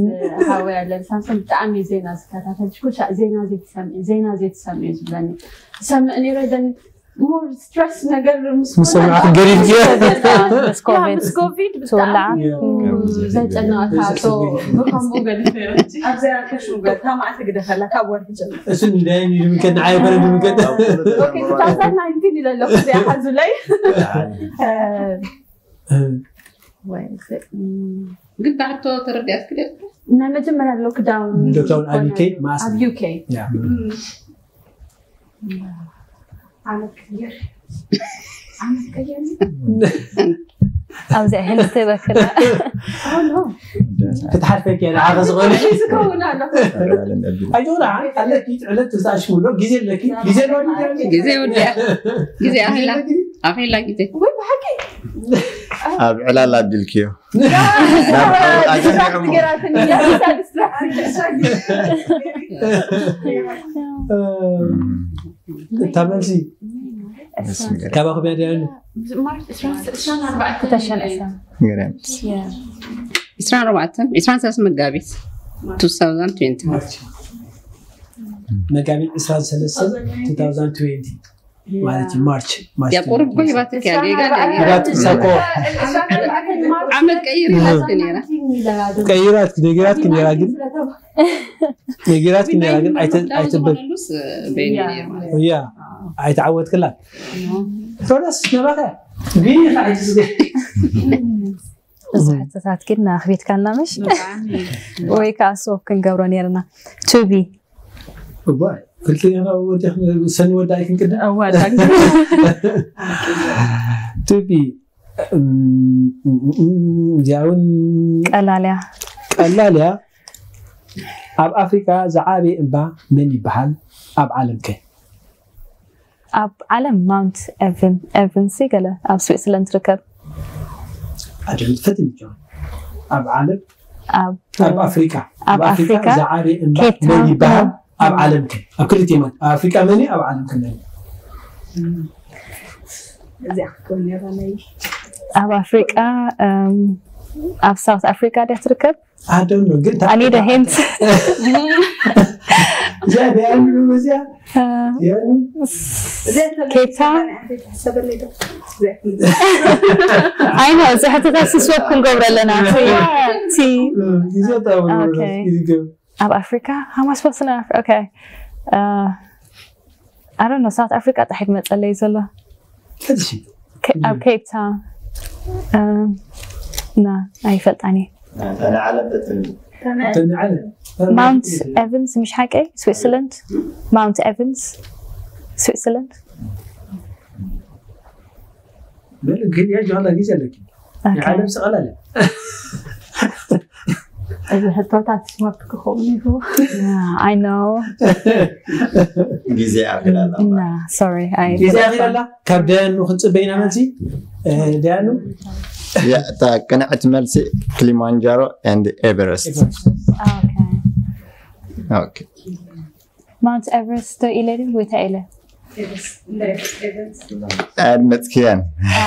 ሓወይ ኣለብሳንሶም ብጣዕሚ ዜና ዝከታተል ሽኩሻ ዜና ዘይትሰምዒ ዜና ዘይትሰምዒ ዝብለኒ ዝሰምዕ ነይረ ደን more stress ነገር ምስ ሰማዕኩ ገሪብ ምስ ኮቪድ ብጣዕሚ ዘጨነቐካ ብከምኡ ገዲፈ ኣብዚኣ ከሽሙ ገርካ መዓልቲ ግደፈላ ካብ ወርሒ ጀምር እሱ እንዳይን ይድምከ ንዓይ በረ ድምከ two thousand nineteen ኢለ ኣለኹ እዚኣ ሓዙለይ እ፣ ወይ፣ እ፣ ም፣ ግን ብሕቶ ተረዲኣትኪ ዶ? ናይ መጀመርያ ሎክዳውን ሎክዳውን ኣብ ዩ ኬ ዝኾነ ማስ ኣብ ዩ ኬ። ያ። ዓመት ቀይር። ዓመት ቀይር። ኣብዚኣ ሄልዝ ትበክላ። ክትሓልፈኪ እያ፣ ንዓኺ ዝኾነ። እዚ ክኸውን ኣሎ። ኣይዞና፣ ኣለኪ ዕለት ተዛሽሙሎ፣ ግዜ ኣለኪ፣ ግዜ ኣሎ። ግዜ ወዲያ። ግዜ ኣኺላ። ኣኺላ ግዜ። ወይ ብሓቂ። ኣብ ዕላል ኣቢልክዮ። ዲስትራክት ገይራትኒ። ዲስትራክት። እታ መልሲ ካባኹም እያ ድያ? ማርች ዕስራን ዕስራን ኣርባዕተን። ክተሸን ዕስራን። ገርም። ያ። ዕስራን ኣርባዕተን ዕስራን ሰለስተ መጋቢት two thousand twenty። መጋቢት ዕስራን ሰለስተን two thousand twenty ማለት እዩ። ማርች ማርች ያ ቁሩብ እኮ ሂባትክ እያ ጌጋ ሂባት ሰኮ ዓመት ቀይር ኢላትክ ነይራ። ቀይራት ነጊራትክ ነይራ ግን ነጊራትክ ነይራ ግን ኣይተ- ኣይተበል ሉስ በይኒ ነይሩ ማለት እያ ኣይተዓወትክላ ቶዳስ ነባኸ ቢኻ ኣይትስገ እዚ ሕቶታት ግን ኣኽቢድካና ምሽ ወይ ከዓ ስወብ ክንገብሮ ነርና። ቱቢ እዋይ ክልተ ና ወዲያ ሰኒ ወዳ ኣይክንቅድም ኣዋዳግ ቱቢ እዚኣ እውን ቀላልያ ቀላል እያ። ኣብ ኣፍሪካ ዝዓበየ እምባ መን ይበሃል? ኣብ ዓለም ከ? ኣብ ዓለም ማውንት ኤቨን- ኤቨንሲ ገለ ኣብ ስዊትዘርላንድ ትርከብ። ኣደም ትፈትን ይቻ ኣብ ዓለም ኣብ ኣብ ኣፍሪካ ኣብ ኣፍሪካ ዝዓበየ እምባ ኬፕ መን ታውን ይበሃል? ኣብ ዓለም ከ? ኣብ ክልተ ማለት ኣብ ኣፍሪካ መን እዩ? ኣብ ዓለም ከ መን እዩ? እዚኣ ክትኮን ነይራ ናይ ኣብ ኣፍሪቃ እም፣ ኣብ ሳውት ኣፍሪካ ድያ ትርከብ? ኣደም ነው ግን ኣኒደ ሄንት እዚኣ ደያሉ እዚኣ ያሉ ኬፕ ታውን ሰበለይ ዶ ኣይ ነው እዚ ሕቶታት ስስወብ ክንገብሮ ኣለና እቲ- እቲ ጊዜ ኦኬ። ይገብ ኣብ ኣፍሪካ how am I supposed to know? Okay. I don't know. ሳውት ኣፍሪካ ጣሒድ መፀለይ ዘሎ ሕዚ ከ- ኣብ ኬፕ ታውን እም፣ ና ኣይፈልጣኒ። ተንዓለ ማውንት ኤቨንስ ምሽ ሓቀይ ስዊትዘርላንድ ማውንት ኤቨንስ ስዊትዘርላንድ ግን ያጅ ጊዜ ኣለኪ ኦኬ። ዓለም ስቐላለ እዚ ሕቶታት ስማርት ክኸውን ይሁ I know. ግዜ ኣኺላላ Nah, sorry. I ግዜ ኣኺላላ ካብ ደያኑ ክንፅበይና መልሲ ደያኑ እታ ቅንዕቲ መልሲ ክሊማንጃሮ and ኤቨረስት Okay. ኦኬ ማውንት ኤቨረስት ዶ ኢለ ድዩ ወይ እንታይ ኢለ? ኣድመፅክያን Ah,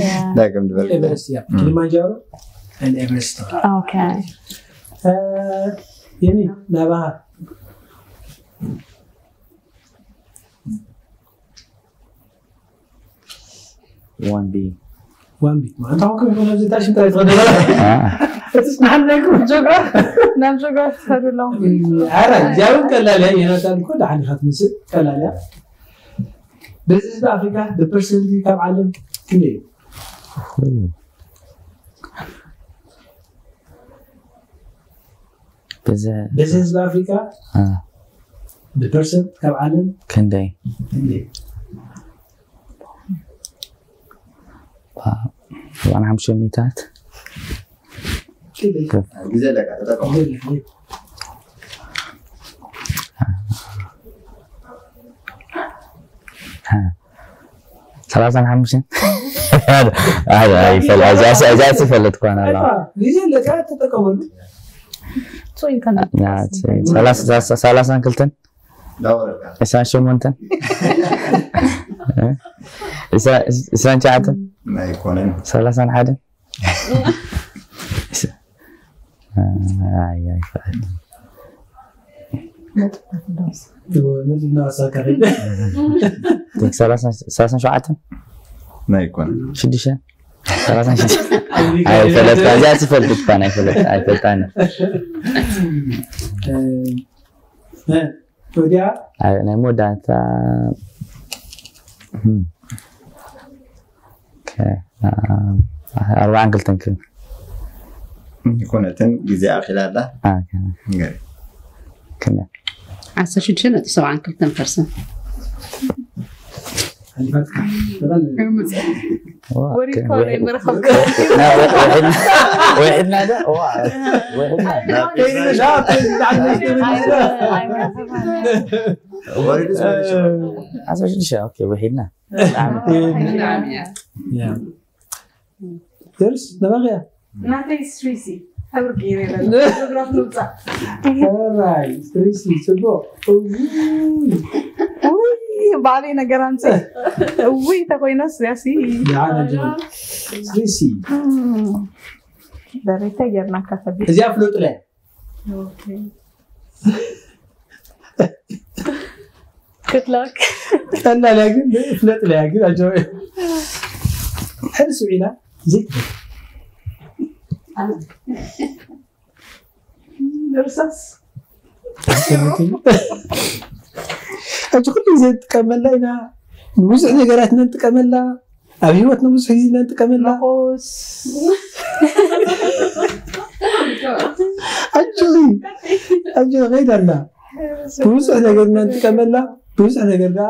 yeah. ዳግም ዝበል ኤቨረስት ያ ክሊማንጃሮ and ኤቨረስት Okay. የኒ ናባኻ One B. ዋን ቢት ማለት ኣሁን ከም ሆነ ዝታ ሽንታ ይትኸደ እቲ ስናሓን ናይ ኩም ጆጋ ናብ ጆጋ ትኸዱ ኣለዉ ኣረ እዚያውን ቀላል እያ የናታን እኮ ደሓን ኢኻ ትመስል ቀላል እያ በዚ ህዝቢ ኣፍሪካ ብፐርሰንት ካብ ዓለም ክንደይ እዩ በዚ በዚ ህዝቢ ኣፍሪካ አ፣ ብፐርሰንት ካብ ዓለም ክንደይ ክንደይ ዋ፣ ኣርባዕን ሓሙሽተን ሚእታት ግዜ ኣለካ ተጠቀሙ ሰላሳን ሓሙሽተን ኣይፈለጥኳን ኣላ ግዜ ኣለካ ተጠቀመሉ ሰላሳን ክልተን ዕስራን ሸሞንተን ዕስራን ሸዓተን ኣይኮነን ሰላሳን ሓደን ሰላሳን ሸውዓተን ኣይኮነን ሽዱሽተ ሰላሳን ሽዱሽተ ኣይፈለጥካ እዚኣ ትፈልጥ እኳ ኣይፈለጥ ኣይፈልጣን ወዲያ ናይ መወዳእታ ኦኬ ኣርባዓን ክልተን ክን ይኮነትን ግዜ ኣኺላ ኣላ ኣከ ገር ክን ዓሰርተ ሽዱሽተ ነጥቢ ሰብዓን ክልተን ፐርሰንት ሓሊፋትካ ወሪድካ ናይ ምርኻብ ወሒድና ዶ ዋ ወሒድና ወሪድስ ወሪድስ ዓሰርተ ሽዱሽተ ኦኬ ወሒድና ደርስ ነባቕያ ናተይ ስትሪሲ ሕብሪ ገይረ ይበለ ፎቶግራፍ ምውፃእ ራይ ስትሪሲ ጽቡቕ ውይ ባዕለይ ነገር ኣምፅእ ውይ ተኮይናስ ያሲ ስትሪሲ ደረይታ ጌርናካ ከቢድ እዚኣ ፍለጡለያ Good luck. ቀላል እያ ግን ፍለጥ ለያ ግን ኣጆ ሕርስ ውዒላ ዘይትብል እርሳስ ሕጂ ኩሉ ግዜ ንጥቀመላ ኢና ንብዙሕ ነገራት ኢና ንጥቀመላ ኣብ ህይወትና ብዙሕ ግዜ ኢና ንጥቀመላ መቆስ ኣጆ ኣጆ ከይዳ ኣላ ብዙሕ ነገር ኢና ንጥቀመላ ብዙሕ ነገር ከዓ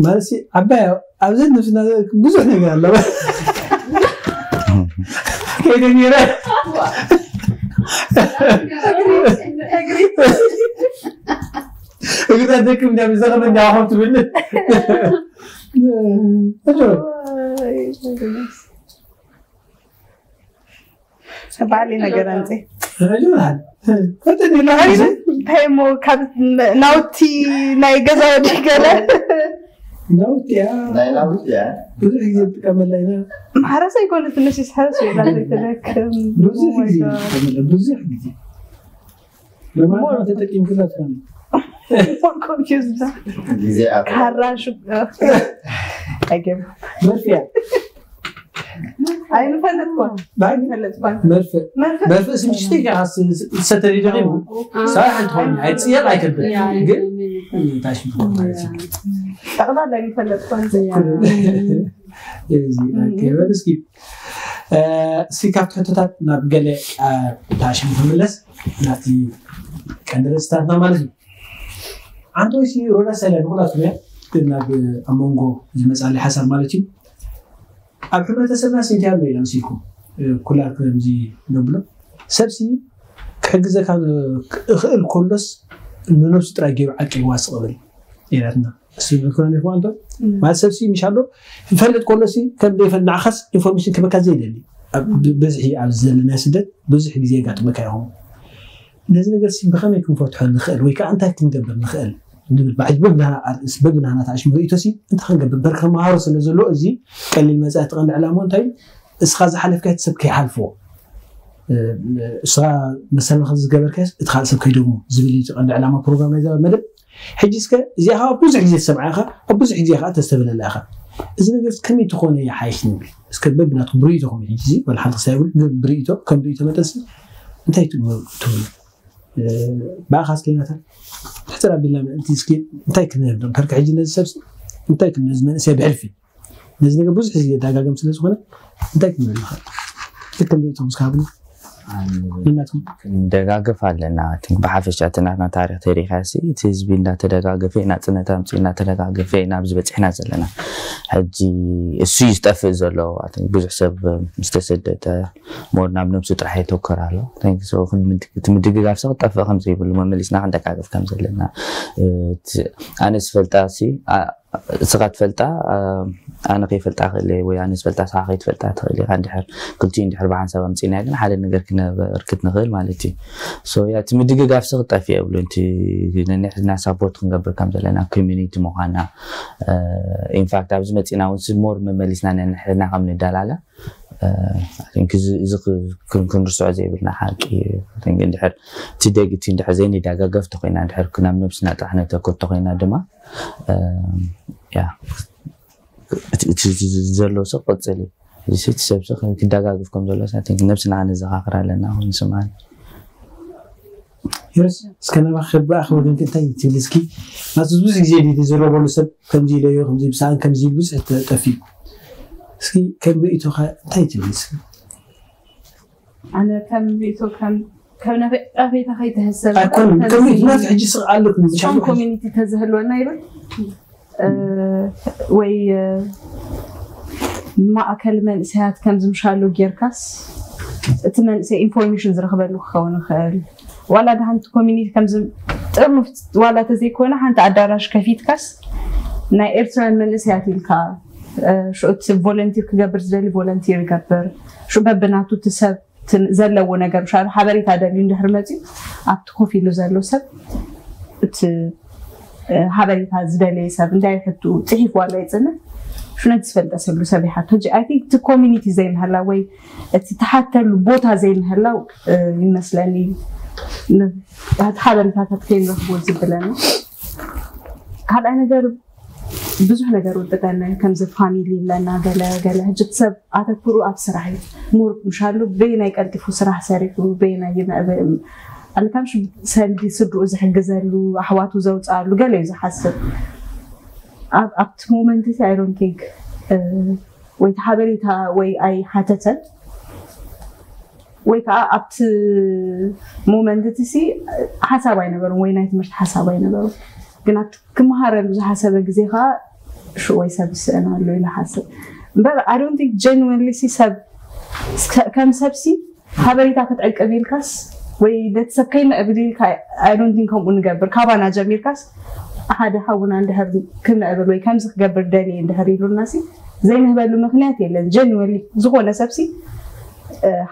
ማለት ዓባይ ኣብዘን ነብስና ብዙሕ ነገር ኣለዋ ከይደ ነይረ እግራ ደክም እንዳ ብዘኸመ እንዳ ኮም ትብል ባዕሊ ነገር ኣምፀ እንታይ እሞ ካብ ናውቲ ናይ ገዛ ወዲ ገለ ናውቲ እያ ናይ ናውቲ እያ ብዙሕ ግዜ ትጥቀመላ ኢና ማሕረስ ኣይኮነ ትንሽ ሓረስ ይላ ዘይተደክም ብዙሕ ግዜ ትጥቀመላ ብዙሕ ግዜ ለማለት ተጠቂምክላ ትኾነ ኮንፊውዝ ግዜ ኣብ ካራ ሹ ኣይገብ መርፍያ ኣይንፈልጥኳን ባይ ፈልጥኳን መርፍእ መርፍእ ስምሽቲ ሰተሪ ደቂቡ ሳይ ሓንቲ ኾን ኣይፅየር ኣይከብድ ግን ታሽ ማለት እዩ ጠቕላላ ኣይንፈልጥኳን እዚ ኣገበል እስኪ እስኪ ካብቲ ሕቶታት ናብ ገለ ታሽም ክምለስ ናብቲ ቀንዲ ርእስታትና ማለት እዩ ኣንቶይሲ ሮዳ ሰለ ንኩላትና ናብ ኣብ መንጎ ዝመፃሊ ሓሳብ ማለት እዩ ኣብ ሕብረተሰብና ስንቲያ ኣሎ ኢና ምስልኩም ኩላ ከምዚ ነብሎ ሰብሲ ክሕግዘካ እኽእል ኮሎስ ንነብሱ ጥራይ ገይሩ ዓቂብዋ ስቕብል ኢላትና እሱ ይብልኩና ነርኩ ኣንቶ ማለት ሰብሲ ምሽ ኣሎ ይፈልጥ ኮሎሲ ከም ዘይፈል ንዓኻስ ኢንፎርሜሽን ክበካ ዘይደሊ ብዝሒ ኣብ ዘለና ስደት ብዙሕ ግዜ የጋጥመካ ይኸውን ነዚ ነገር ሲ ብኸመይ ክንፈትሖ ንኽእል ወይ ከዓ እንታይ ክንገብር ንኽእል ንብል ባዕል በብናና ኣርእስ በብናና ተኣሽሙ ርእቶ ሲ እንታይ ክንገብር በር ከመሃሮ ስለ ዘሎ እዚ ቀሊል መፅኣ እቲ ቀንዲ ዕላማ እንታይ እስኻ ዝሓለፍካ ሰብ ከይሓልፎ እስኻ መሰልመኸ ዝገበርካስ እቲ ካልእ ሰብ ከይደግሞ ዝብል እዩ ቀንዲ ዕላማ ፕሮግራም ናይ ዘባ መደብ ሕጂ እስከ እዚኣ ከዓ ብዙሕ ግዜ ዝሰምዓ ኢኻ ኣብ ብዙሕ ግዜ ከዓ ተስተብለላ ኢኻ እዚ ነገር ከመይ ትኾነ ይሓይሽ ንብል እስከ በብናትኩም ብርእይቶኹም ሕጂ ወላ ሓንቲ ክሳብ ይብል ግን ብርእይቶ ከም ብርእይቶ መጠንሲ እንታይ ትብሉ ብኣኻ ስከይናታ ሕፅር ኣቢልና ምእንቲ እስኪ እንታይ ክንህብ ዶ ከርካ ሕጂ ነዚ ሰብ እንታይ ክንህብ መንእሰይ ብሕልፊ ነዚ ነገር ብዙሕ ግዜ ዳጋገም ስለ ዝኾነ እንታይ ክንብል ንኽእል ልክም ርእይቶም እስካብና ነናትኩም ንደጋገፍ ኣለና ብሓፈሻ እቲ ናትና ታሪክ ተሪካ ሲ እቲ ህዝቢ እንዳተደጋገፈ ኢና ፅነት ኣምፂ እናተደጋገፈ ኢና ኣብዚ በፂሕና ዘለና ሕጂ እሱ እዩ ዝጠፍእ ዘሎ ብዙሕ ሰብ ምስተሰደተ ሞር ናብ ነብሱ ጥራሕ የተኮር ኣሎ እቲ ምድግጋፍ ሰ ክጠፍእ ከም ዘይብሉ መመሊስና ክንደጋገፍ ከም ዘለና ኣነ ዝፈልጣ ሲ እስኻ ትፈልጣ ኣነ ከይፈልጣ ክእል ወይ ኣነ ዝፈልጣ ስኻ ከይትፈልጣ ትኽእል ኢኻ እንድሕር ክልቲኡ እንድሕር ብሓንሳብ ኣምፂእና ግን ሓደ ነገር ክነበርክት ንኽእል ማለት እዩ ሶ ያ እቲ ምድግጋፍ ሲ ክጠፍ የብሉ እቲ ነንሕድና ሳፖርት ክንገብር ከም ዘለና ኮሚኒቲ ምዃና ኢንፋክት ኣብዚ መፂና እውን ሞር መመሊስና ነንሕድና ከም ንደላለ እዚ ክንርስዖ ዘይብልና ሓቂ እንድሕር እቲ ደግ እቲ እንድሕር ዘይንደጋገፍ ተኮይና እንድሕር ናብ ነብስና ጥራሕ ነተኩር ተኮይና ድማ ያ እቲ ዘሎ ሰብ ቀፅል እዩ እዚ እቲ ሰብ ሰብ ክደጋግፍ ከም ዘሎ ነብስና ክንዘኻኽር ኣለና ንስምዓን ዮርስ እስከ ናባኺ ከብኣኺ ወገንኪ እንታይ ትብል እስኪ ናቱ ብዙሕ ግዜ ድዩ ዝረበሉ ሰብ ከምዚ ኢለዮ ከምዚ ብሰኣን ከምዚ ኢሉ ብዙሕ ጠፊኡ እስኪ ከም ርእይቶኻ እንታይ ትብል እስኪ? ኣነ ከም ርእይቶ ከም ከም ነፈቃፌታ ከይተህሰብ ኣይኮነን ከም ርእይቶ ናት ሕጂ ስቕ ኣለኩም ቶም ኮሚኒቲ ተዝህልወና ይብል ወይ ማእከል መንእሰያት ከም ዝምሻሉ ጌርካስ እቲ መንእሰይ ኢንፎርሜሽን ዝረኽበሉ ክኸውን ይኽእል። ዋላ ዳ ሓንቲ ኮሚኒቲ ከምዚ ጥርኑፍ ዋላ ተዘይኮነ ሓንቲ ኣዳራሽ ከፊትካስ ናይ ኤርትራውያን መንእሰያት ኢልካ ሽዑ እቲ ቮለንቲር ክገብር ዝደሊ ቮለንቲር ይገብር። ሽዑ በብናቱ እቲ ሰብ ዘለዎ ነገር ሻ ሓበሬታ ደልዩ እንድሕር መፅዩ ኣብቲ ኮፍ ኢሉ ዘሎ ሰብ እቲ ሓበሬታ ዝደለየ ሰብ እንታይ ሕቱ ፅሒፍ ዋላ ይፅንሕ ሽነት ዝፈልጠሰሉ ሰብ ይሓቶ ጂ ኣይ ቲንክ እቲ ኮሚኒቲ ዘይምህላ ወይ እቲ ተሓተሉ ቦታ ዘይምህላው ይመስለኒ እቲ ሓበሬታታት ከይንረክቦ ዝብለኒ ካልኣይ ነገር ብዙሕ ነገር ውጥጠና ከምዚ ፋሚሊ ይብለና ገለ ገለ ሕጂ ሰብ ኣተኩሩ ኣብ ስራሕ እዩ ሙር ምሻሉ በየናይ ቀልጢፉ ስራሕ ሰሪሑ በየናይ ይምዕብል ኣልካም ሰልዲ ስድኡ ዝሕግዘሉ ኣሕዋቱ ዘውፅኣሉ ገለ እዩ ዝሓስብ ኣብቲ ሞመንት እዚ ኣይሮን ቲንክ ወይ ሓበሬታ ወይ ኣይሓተተን ወይ ከዓ ኣብቲ ሞመንት እቲ ሓሳብ ኣይነበሩን ወይ ናይ ትምህርቲ ሓሳብ ኣይነበሩ ግን ኣብቲ ክመሃረሉ ዝሓሰበ ግዜ ከዓ ሽወይ ሰብ ይስእን ኣሎ ኢለ ሓስብ እምበር ኣዶንቲንክ ጀንወንሊ ሰብ ከም ሰብሲ ሓበሬታ ክትዕቅብ ኢልካስ ወይ ነቲ ሰብ ከይምዕብል ኢልካ ኣዶንቲን ከምኡ ንገብር ካባና ጀሚርካስ ሓደ ሓውና እንድሕር ክምዕብል ወይ ከምዚ ክገብር ደልየ እንድሕር ኢሉና ሲ ዘይንህበሉ ምክንያት የለን ጀንወንሊ ዝኾነ ሰብሲ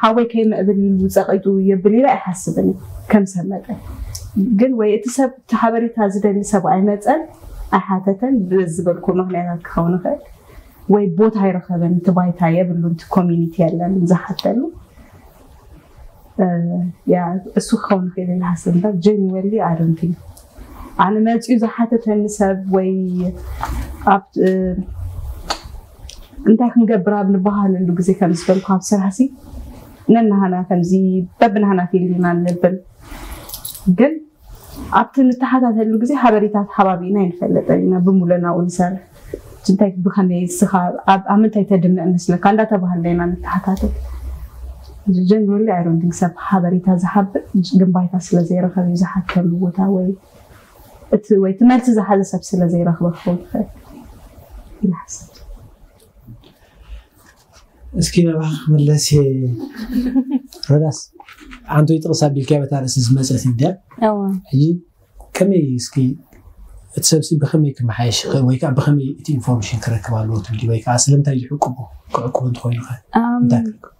ሓወይ ከይምዕብል ኢሉ ፀቂጡ የብል ኢለ ኣይሓስብን ከም ሰብ መጠን ግን ወይ እቲ ሰብ እቲ ሓበሬታ ዝደሊ ሰብ ኣይመፀን ኣይሓተተን ብዝበልኩ ምክንያታት ክኸውን ይኽእል ወይ ቦታ ኣይረኸበን እቲ ባይታ የብሉን እቲ ኮሚኒቲ የለን ዝሓተሉ እሱ ክኸውን ይኽእል ኢለ ሓስብ እምበር ጀንወሊ ኣደንቲ ኣነ መፅኡ ዝሓተተኒ ሰብ ወይ ኣብ እንታይ ክንገብር ኣብ ንበሃለሉ ግዜ ከም ዝበልኩ ኣብ ስራሕሲ ነናሃና ከምዚ በብናሃና ፊልድ ኢና ንብል ግን ኣብቲ ንተሓታተሉ ግዜ ሓበሬታት ሓባቢና ይንፈልጠ ኢና ብሙለናኡ ንሰርሕ እንታይ ብኸመይ ስኻ ኣብ ምንታይ ተድምዕ መስለካ እንዳተባሃለ ኢና ንተሓታተል ጀንወሊ ኣይሮንቲንግ ሰብ ሓበሬታ ዝሓብእ ግንባይታ ስለ ዘይረኸብ እዩ ዝሓተሉ ቦታ ወይ እቲ ወይ ትመልሲ ዝሓዘ ሰብ ስለ ዘይረኽበ ክኸውን ይኽእል ኢለ ሓሰብ እስኪ ናባኻ ክምለስ እየ። ሮዳስ ሓንቲ ወይ ጥቕስ ኣቢልካ በታ ርእሲ ዝመፀት እንድያ እዋ ሕጂ ከመይ እስኪ እቲ ሰብሲ ብኸመይ ክመሓየሽ ይኽእል ወይ ከዓ ብኸመይ እቲ ኢንፎርሜሽን ክረክብ ኣለዎ ትብሊ ወይ ከዓ ስለምንታይ ይሕቅቡ ክዕቅቡ እንተኾይኑ ኸ ኣም፣ እንታይ ክረክብ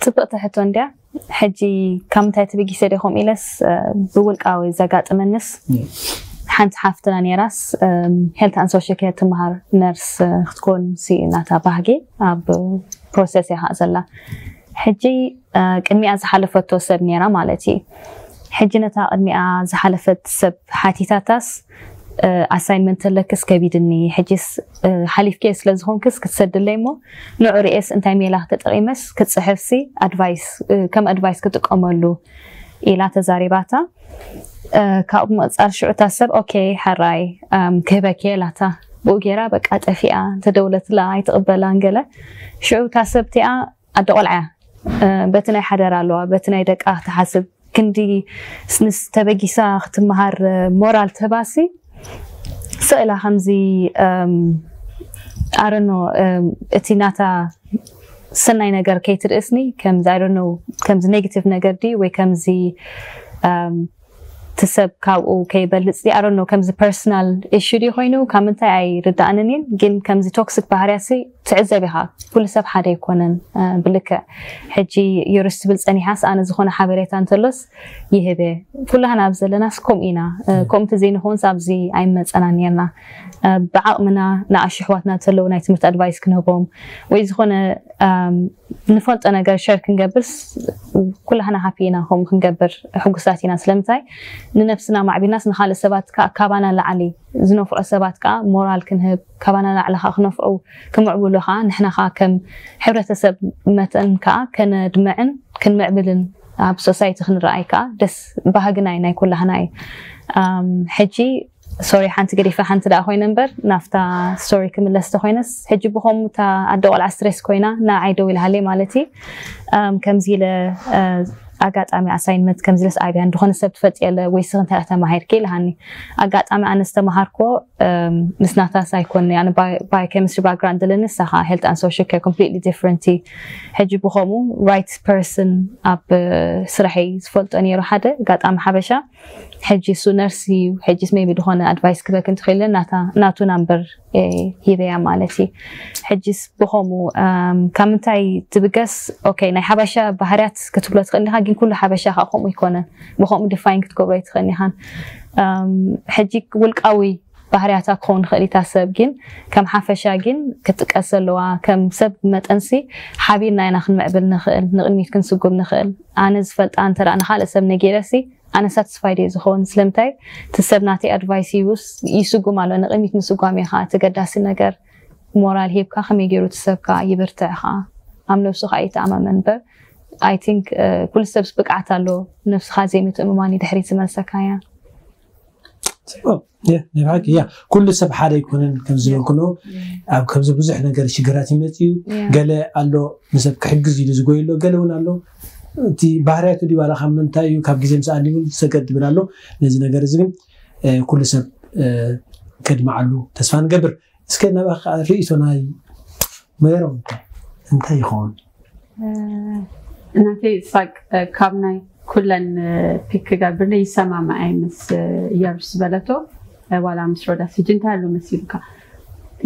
ፅብቕቲ ሕቶ እንድያ። ሕጂ ካብ ምንታይ ተበጊሰ ዲኹም ኢለስ እ፣ ብውልቃዊ ዘጋጥመንስ ሓንቲ ሓፍትና ነይራስ ሄልት ኣን ሶሻል ኬር ትመሃር ነርስ እ፣ ክትኮን ሲ ናታ ባህጊ ኣብ ፕሮሰስ እያ ከዓ ዘላ። ሕጂ እ፣ ቅድሚኣ ዝሓለፈቶ ሰብ ነይራ ማለት እዩ። ሕጂ ነታ ቅድሚኣ ዝሓለፈት ሰብ ሓቲታታስ ኣሳይንመንት ተለክስ ከቢድኒ ሕጂስ እ፣ ሓሊፍክዮ ስለ ዝኾንክስ ክትሰድለይ እሞ ንዑ ርእየስ እንታይ ሜላ ተጠቒመስ ክፅሕፍሲ ኣድቫይስ እ፣ ከም ኣድቫይስ ክጥቀመሉ ኢላ ተዛሪባታ። እ፣ ካብኡ ብምቕፃል ሽዑ እታ ሰብ ኦኬ ሕራይ ኣም፣ ክህበኪ ኢላታ። ብኡ ገይራ በቃ ጠፊኣ እንተደውለትላ ኣይትቕበላን ገለ። ሽዑ እታ ሰብ እቲኣ ኣደ ቆልዓ እያ። እ፣ በቲ ናይ ሓደራ ኣለዋ በቲ ናይ ደቃ ክትሓስብ ክንዲ ንስ ተበጊሳ ክትመሃር ሞራል ተባሲ ስእላ ከምዚ ኣረኖ እቲ ናታ ሰናይ ነገር ከይትርእስኒ ከምዚ ኣረኖ ከምዚ ኔጌቲቭ ነገር ድዩ ወይ ከምዚ እቲ ሰብ ካብኡ ከይበልፅ ኣረኖ ከምዚ ፐርሰናል ኢሹ ድዩ ኮይኑ ካብ ምንታይ ኣይርዳእንን እየን ግን ከምዚ ቶክሲክ ባህርያሲ ትዕዘብ ኢኻ ኩሉ ሰብ ሓደ ኣይኮነን ብልክዕ ሕጂ ዮርስ ትብል ፀኒሓስ ኣነ ዝኾነ ሓበሬታ እንተሎስ ይህበ ኩላህና ኣብ ዘለናስ ከምኡ ኢና ከምኡ እንተዘይንኸውንስ ኣብዚ ኣይመፀና ነርና ብዓቕምና ንኣሽ ኣሕዋትና እንተለዉ ናይ ትምህርቲ ኣድቫይስ ክንህቦም ወይ ዝኾነ ንፈልጦ ነገር ሸር ክንገብርስ ኩላህና ሃፒ ኢና ከምኡ ክንገብር ሕጉሳት ኢና ስለምንታይ ንነብስና ማዕቢልናስ ንካልእ ሰባት ከዓ ካባና ላዕሊ ዝነፍዑ ሰባት ከዓ ሞራል ክንህብ ካባና ላዕሊ ከዓ ክነፍዑ ክምዕብሉ ከዓ ንሕና ከዓ ከም ሕብረተሰብ መጠን ከዓ ከነድምዕን ክንምዕብልን ኣብ ሶሳይቲ ክንረኣይ ከዓ ደስ ባህግና እዩ ናይ ኩላህና እዩ ሕጂ ሶሪ ሓንቲ ገዲፈ ሓንቲ ደኣ ኮይነ እምበር ናፍታ ስቶሪ ክምለስ ተኮይነስ ሕጂ ብኸምኡ እታ ኣደ ቆልዓ ስትሬስ ኮይና ንዓይ ደው ኢላሃለይ ማለት እዩ። እም፣ ከምዚ ኢለ እ፣ ኣጋጣሚ ኣሳይንመንት ከምዚ ኢለስ ኣብያ እንደኾነ ሰብ ትፈልጥ የለ ወይ ስኽ እንታይ ተማሂርኪ ኢልሃኒ። ኣጋጣሚ ኣነ ዝተማሃርኮ እም፣ ምስ ናታስ ኣይኮን ኣነ ባዮኬሚስትሪ ባክግራውንድ ዘለኒ ንሳኻ ሄልት ኣን ሶሻል ኬር ኮምፕሊትሊ ዲፍረንት እዩ። ሕጂ ብኸምኡ ራይት ፐርሰን ኣብ እ፣ ስራሐይ ዝፈልጦ ነይሩ ሓደ ኣጋጣሚ ሓበሻ ሕጂ እሱ ነርስ እዩ። ሕጂስ ሜቢ ዝኾነ ኣድቫይስ ክበክ እንትኽእል ናታ ናቱ ናምበር እ፣ ሂበያ ማለት እዩ። ሕጂስ ብኸምኡ እም፣ ካብ ምንታይ ትብገስ? ኦኬ ናይ ሓበሻ ባህርያት ክትብሎ ትኽእል ኢኻ፣ ግን ኩሉ ሓበሻ ከዓ ከምኡ ኣይኮነን። ብኸምኡ ዲፋይን ክትገብሮ ኣይትኽእል ኢኻን። እም፣ ሕጂ ውልቃዊ ባህርያታ ክኸውን ይኽእል ኢታ ሰብ ግን ከም ሓፈሻ ግን ክትጥቀስ ዘለዋ ከም ሰብ መጠንሲ ሓቢርና ኢና ክንምዕብል ንኽእል፣ ንቕድሚት ክንስጉም ንኽእል። ኣነ ዝፈልጣ እንተ ደኣ ንኻልእ ሰብ ነጊረሲ ኣነ ሳትስፋይድ እየ ዝኸውን። ስለምንታይ እቲ ሰብ ናተይ ኣድቫይስ ይውስ ይስጉም ኣሎ። ንቕድሚት ምስጓም እዩ ከዓ እቲ ገዳሲ ነገር። ሞራል ሂብካ ከመይ ገይሩ እቲ ሰብ ከዓ ይብርትዕ ከዓ ኣብ ነብሱ ከዓ ይተኣማመን እምበር ኣይ ቲንክ ኩሉ ሰብስ ብቅዓት ኣሎ። ነብስኻ ዘይምትእምማን እዩ ድሕሪት ዝመልሰካ እያ። ጽቡቅ። ያ ናይ ብሓቂ ያ ኩሉ ሰብ ሓደ ኣይኮነን ከም ዝበልኩኖ ኣብ ከምዚ ብዙሕ ነገር ሽግራት ይመጽእ እዩ። ገለ ኣሎ ንሰብ ክሕግዝ ኢሉ ዝጎይ ኣሎ፣ ገለ እውን ኣሎ እቲ ባህርያቱ ድዩ ዋላ ካብ ምንታይ እዩ ካብ ግዜ ምስ ኣሊሙ ሰገድ ድብል ኣሎ። ነዚ ነገር እዚ ግን እ፣ ኩሉ ሰብ እ፣ ከድምዓሉ ተስፋ ንገብር። እስከ ናባኻ ርእይቶ ናይ መረም እንታይ ይኸውን? እናተይ ሳቅ ካብ ናይ ኩለን ፒክ ክገብር ይሰማማዕ ምስ የሩስ ዝበለቶ ዋላ ምስ ሮዳስ ሕጂ እንታይ ኣሎ መሲሉካ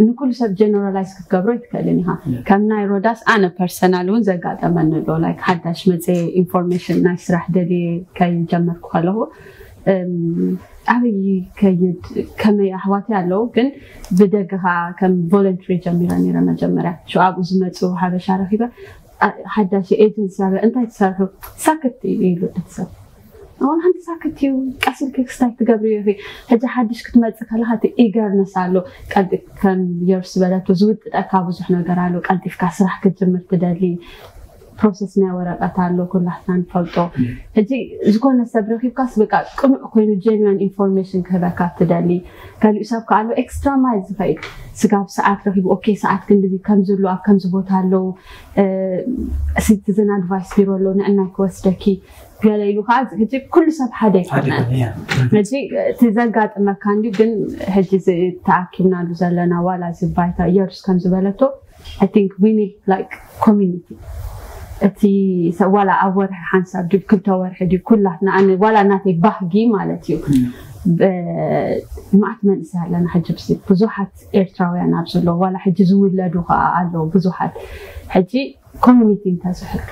ንኩሉ ሰብ ጀነራላይዝ ክትገብሮ ይትክእልን ኢኻ። ከም ናይ ሮዳስ ኣነ ፐርሰናል እውን ዘጋጠመኒ ኣሎ። ላይክ ሓዳሽ መፀ ኢንፎርሜሽን ናይ ስራሕ ደልየ ከይጀመርኩ ከለኹ እም፣ ኣበይ ከይድ ከመይ ኣሕዋተይ ኣለዉ ግን ብደገኻ ከም ቮለንትሪ ጀሚረ ነይረ መጀመርያ ሽኡ ኣብኡ ዝመፁ ሓበሻ ረኪበ ኣ- ሓዳሽ ኤጀንሲ ኣበ እንታይ ትሰርሑ ሳክት እዩ ኢሉ እቲ ሰብ ኣሁን ሓንቲ ሳክት እዩ ቀስ ኢልኪ ክስታይ ትገብሪ ኢኺ ሕጂ ሓድሽ ክትመፅእ ከለካ እቲ ኢገርነስ ኣሎ ቀልጢፍ ከም የርስ ዝበለቶ ዝውጥጠካ ብዙሕ ነገር ኣሎ ቀልጢፍካ ስራሕ ክትጅምር ትደሊ ፕሮሰስ ናይ ወረቀት ኣሎ ኩላትና ንፈልጦ ሕጂ ዝኾነ ሰብ ረኪብካስ በቃ ቅኑዕ ኮይኑ ጀንዋን ኢንፎርሜሽን ክህበካ ትደሊ ገሊኡ ሰብ ከዓ ኣሎ ኤክስትራ ማይል ዝኸይድ ስጋብ ሰዓት ረኪቡ ኦኬ ሰዓት ክንድዚ ከምዚ ኣሎ ኣብ ከምዚ ቦታ ኣለዉ ሲቲዝን ኣድቫይስ ቢሮ ኣሎ ንዕናይ ክወስደኪ ገለ ኢሉ ከዓ ሕጂ ኩሉ ሰብ ሓደ ኣይኮነን ሕጂ እቲ ዘጋጥመካ እንዲ ግን ሕጂ ተኣኪብናሉ ዘለና ዋላ እዚ ባይታ የሩስ ከም ዝበለቶ I think we need like community እቲ ሰብ ዋላ ኣብ ወርሒ ሓንሳብ ድዩ ክልተ ወርሒ ድዩ ኩላትና ኣነ ዋላ ናተይ ባህጊ ማለት እዩ ማዕት መንእሰይ ኣለና ሕጂ ብዙሓት ኤርትራውያን ኣብ ዘለዉ ዋላ ሕጂ ዝውለዱ ከዓ ኣለዉ ብዙሓት ሕጂ ኮሚኒቲ እንተዝህሉ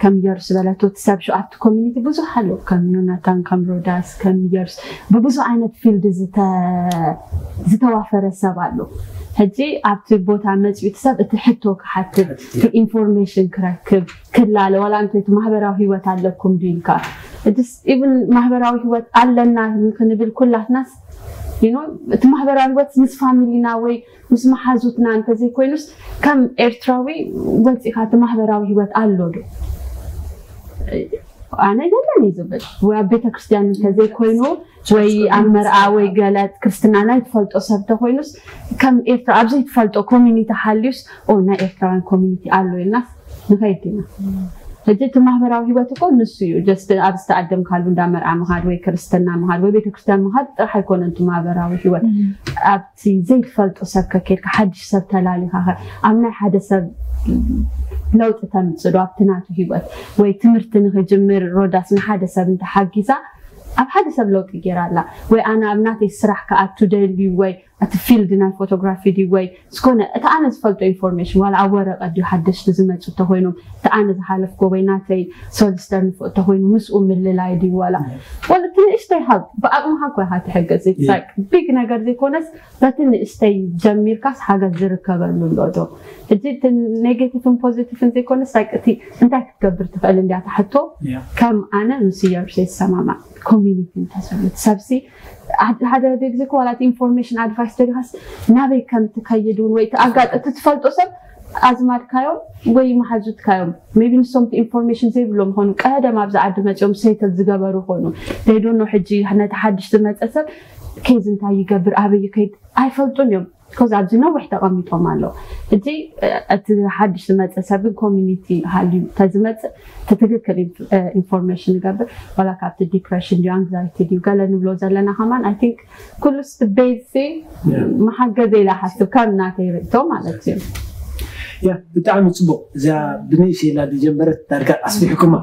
ከም የሩስ ዝበለቶ እቲ ሰብ ሽኣቱ ኮሚኒቲ ብዙሕ ኣሎ ከም ዮናታን ከም ሮዳስ ከም የሩስ ብብዙሕ ዓይነት ፊልድ ዝተዋፈረ ሰብ ኣሎ ሕጂ ኣብቲ ቦታ መፅኡ እቲ ሰብ እቲ ሕቶ ክሓትት ኢንፎርሜሽን ክረክብ ክላለ ዋላ እንተ እቲ ማህበራዊ ህይወት ኣለኩም ድዩ ኢልካ ኢቭን ማህበራዊ ህይወት ኣለና ክንብል ኩላትናስ እቲ ማህበራዊ ህይወት ምስ ፋሚሊና ወይ ምስ መሓዙትና እንተዘይኮይኑስ ከም ኤርትራዊ ወፂኻ እቲ ማህበራዊ ህይወት ኣሎ ዶ ኣነ የለን እዩ ዝብል ወይ ኣብ ቤተክርስትያን እንተዘይኮይኑ ወይ ኣብ መርኣ ወይ ገለ ክርስትና ናይ ትፈልጦ ሰብ ተኮይኑስ ከም ኤርትራ ኣብ ዘይትፈልጦ ኮሚኒቲ ሓልዩስ ኦ ናይ ኤርትራውያን ኮሚኒቲ ኣሎ ኢልናስ ንኸይድ ኢና ሕጂ እቲ ማህበራዊ ህይወት እኮ ንሱ እዩ ጀስት ኣብ ዝተኣደምካሉ እንዳ መርዓ ምኻድ ወይ ክርስትና ምኻድ ወይ ቤተክርስትያን ምኻድ ጥራሕ ኣይኮነን እቲ ማህበራዊ ህይወት ኣብቲ ዘይትፈልጦ ሰብ ከኬድካ ሓድሽ ሰብ ተላሊኻ ኣብ ናይ ሓደ ሰብ ለውጢ ተምፅእ ዶ ኣብቲ ናቱ ህይወት ወይ ትምህርቲ ንክጅምር ሮዳስ ንሓደ ሰብ እንተሓጊዛ ኣብ ሓደ ሰብ ለውጢ ገይራ ኣላ ወይ ኣነ ኣብ ናተይ ስራሕ ክኣቱ ደልዩ ወይ እቲ ፊልድ ናይ ፎቶግራፊ ድዩ ወይ ዝኾነ እቲ ኣነ ዝፈልጦ ኢንፎርሜሽን ዋላ ኣብ ወረቀት ድዩ ሓደሽቲ ዝመፁ እንተኮይኖም እቲ ኣነ ዝሓለፍኮ ወይ ናተይ ሶሊስተር ንፍኦ እንተኮይኑ ምስኡ ምልላይ ድዩ ዋላ ወላ እቲ ንእሽተይ ሃብ ብኣቅምካ እኮ ኢካ ትሕገዝ ቢግ ነገር ዘይኮነስ በቲ ንእሽተይ ጀሚርካስ ሓገዝ ዝርከበሉ ኣሎ ዶ ሕጂ እቲ ኔጌቲቭን ፖዚቲቭን ዘይኮነስ like እቲ እንታይ ክትገብር ትኽእል እንድያ ትሕቶ ከም ኣነ ምስ ኢየሩስ ይሰማማዕ ኮሚኒቲ እንተዘሎ እቲ ሰብሲ ሓደ ግዜ ኮ ዋላ ኢንፎርሜሽን ኣድቫይስ ደሊኻስ ናበይ ከም ትከይድ እውን ወይ ኣጋጥ እቲ ትፈልጦ ሰብ ኣዝማድካዮም ወይ መሓዙትካዮም ቢ ንሶም ኢንፎርሜሽን ዘይብሎም ኾኑ ቀደም ኣብዚ ዓዲ መፅኦም ሴትል ዝገበሩ ኾኑ ዘይዶኖ ሕጂ ነቲ ሓድሽ ዝመፀ ሰብ ኬዝ እንታይ ይገብር ኣበይ ከይድ ኣይፈልጡን እዮም። ኮዝ ኣብዚ ነዊሕ ተቐሚጦም ኣለዉ። ሕጂ እቲ ሓድሽ ዝመፀ ሰብ ግን ኮሚኒቲ ሃልዩ ተዝመፅእ ትትክክል ኢንፎርሜሽን ይገብር ዋላ ካብቲ ዲፕሬሽን ድዩ ኣንግዛይቲ ድዩ ገለ ንብሎ ዘለና ከማን ኣይ ቲንክ ኩሉ ስቲ ቤዚ መሓገዘ ኢላ ሓስብ ካብ ናተይ ርእቶ ማለት እዩ። ያ ብጣዕሚ ፅቡቅ። እዚኣ ብንእሽ ኢላ ዝጀመረት ዳርጋ ኣስፊሕኩማ።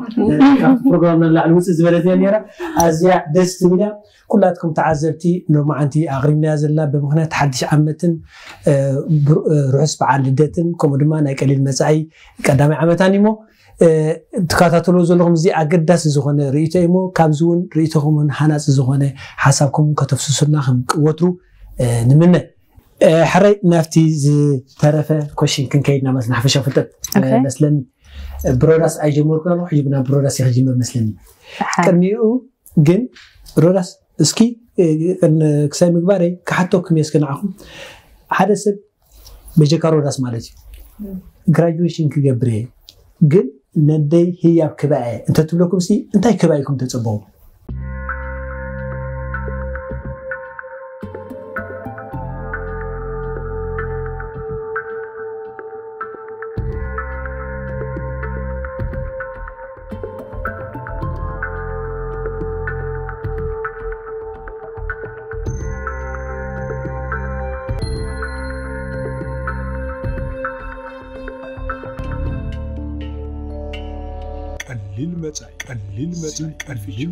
ካብቲ ፕሮግራም ንላዕሊ ውፅእ ዝበለት እያ ነራ። ኣዝያ ደስ ትብል እያ። ኩላትኩም ተዓዘብቲ ሎማዓንቲ ኣቕሪብናያ ዘለና ብምኽንያት ሓድሽ ዓመትን ርሑስ በዓል ልደትን ከምኡ ድማ ናይ ቀሊል መፃኢ ቀዳማይ ዓመታን እሞ ትከታተልዎ ዘለኹም እዚ ኣገዳሲ ዝኾነ ርእቶ እሞ ካብዚ እውን ርእቶኹምን ሃናፂ ዝኾነ ሓሳብኩም ከተፍስሱልና ከም ወትሩ ንምነ። ሕራይ ናብቲ ዝተረፈ ኮሽን ክንከይድ ናብ መስና ሓፈሻ ፍልጠት መስለኒ። ብሮዳስ ኣይጀመርኩ ኣለኹ ሕጂ ናብ ብሮዳስ ይክጅምር መስለኒ። ቅድሚኡ ግን ሮዳስ እስኪ ክሳይ ምግባረይ ክሓተኩም እየ እስኪ ንዓኹም ሓደ ሰብ በጀካ ሮዳስ ማለት እዩ ግራጁዌሽን ክገብር እየ ግን ነደይ ህያብ ክበአ እንተትብለኩም ሲ እንታይ ክበአ ኢኩም ተፀበው? ቀሊል መጻኢ ቀሊል መጻኢ ቀሊል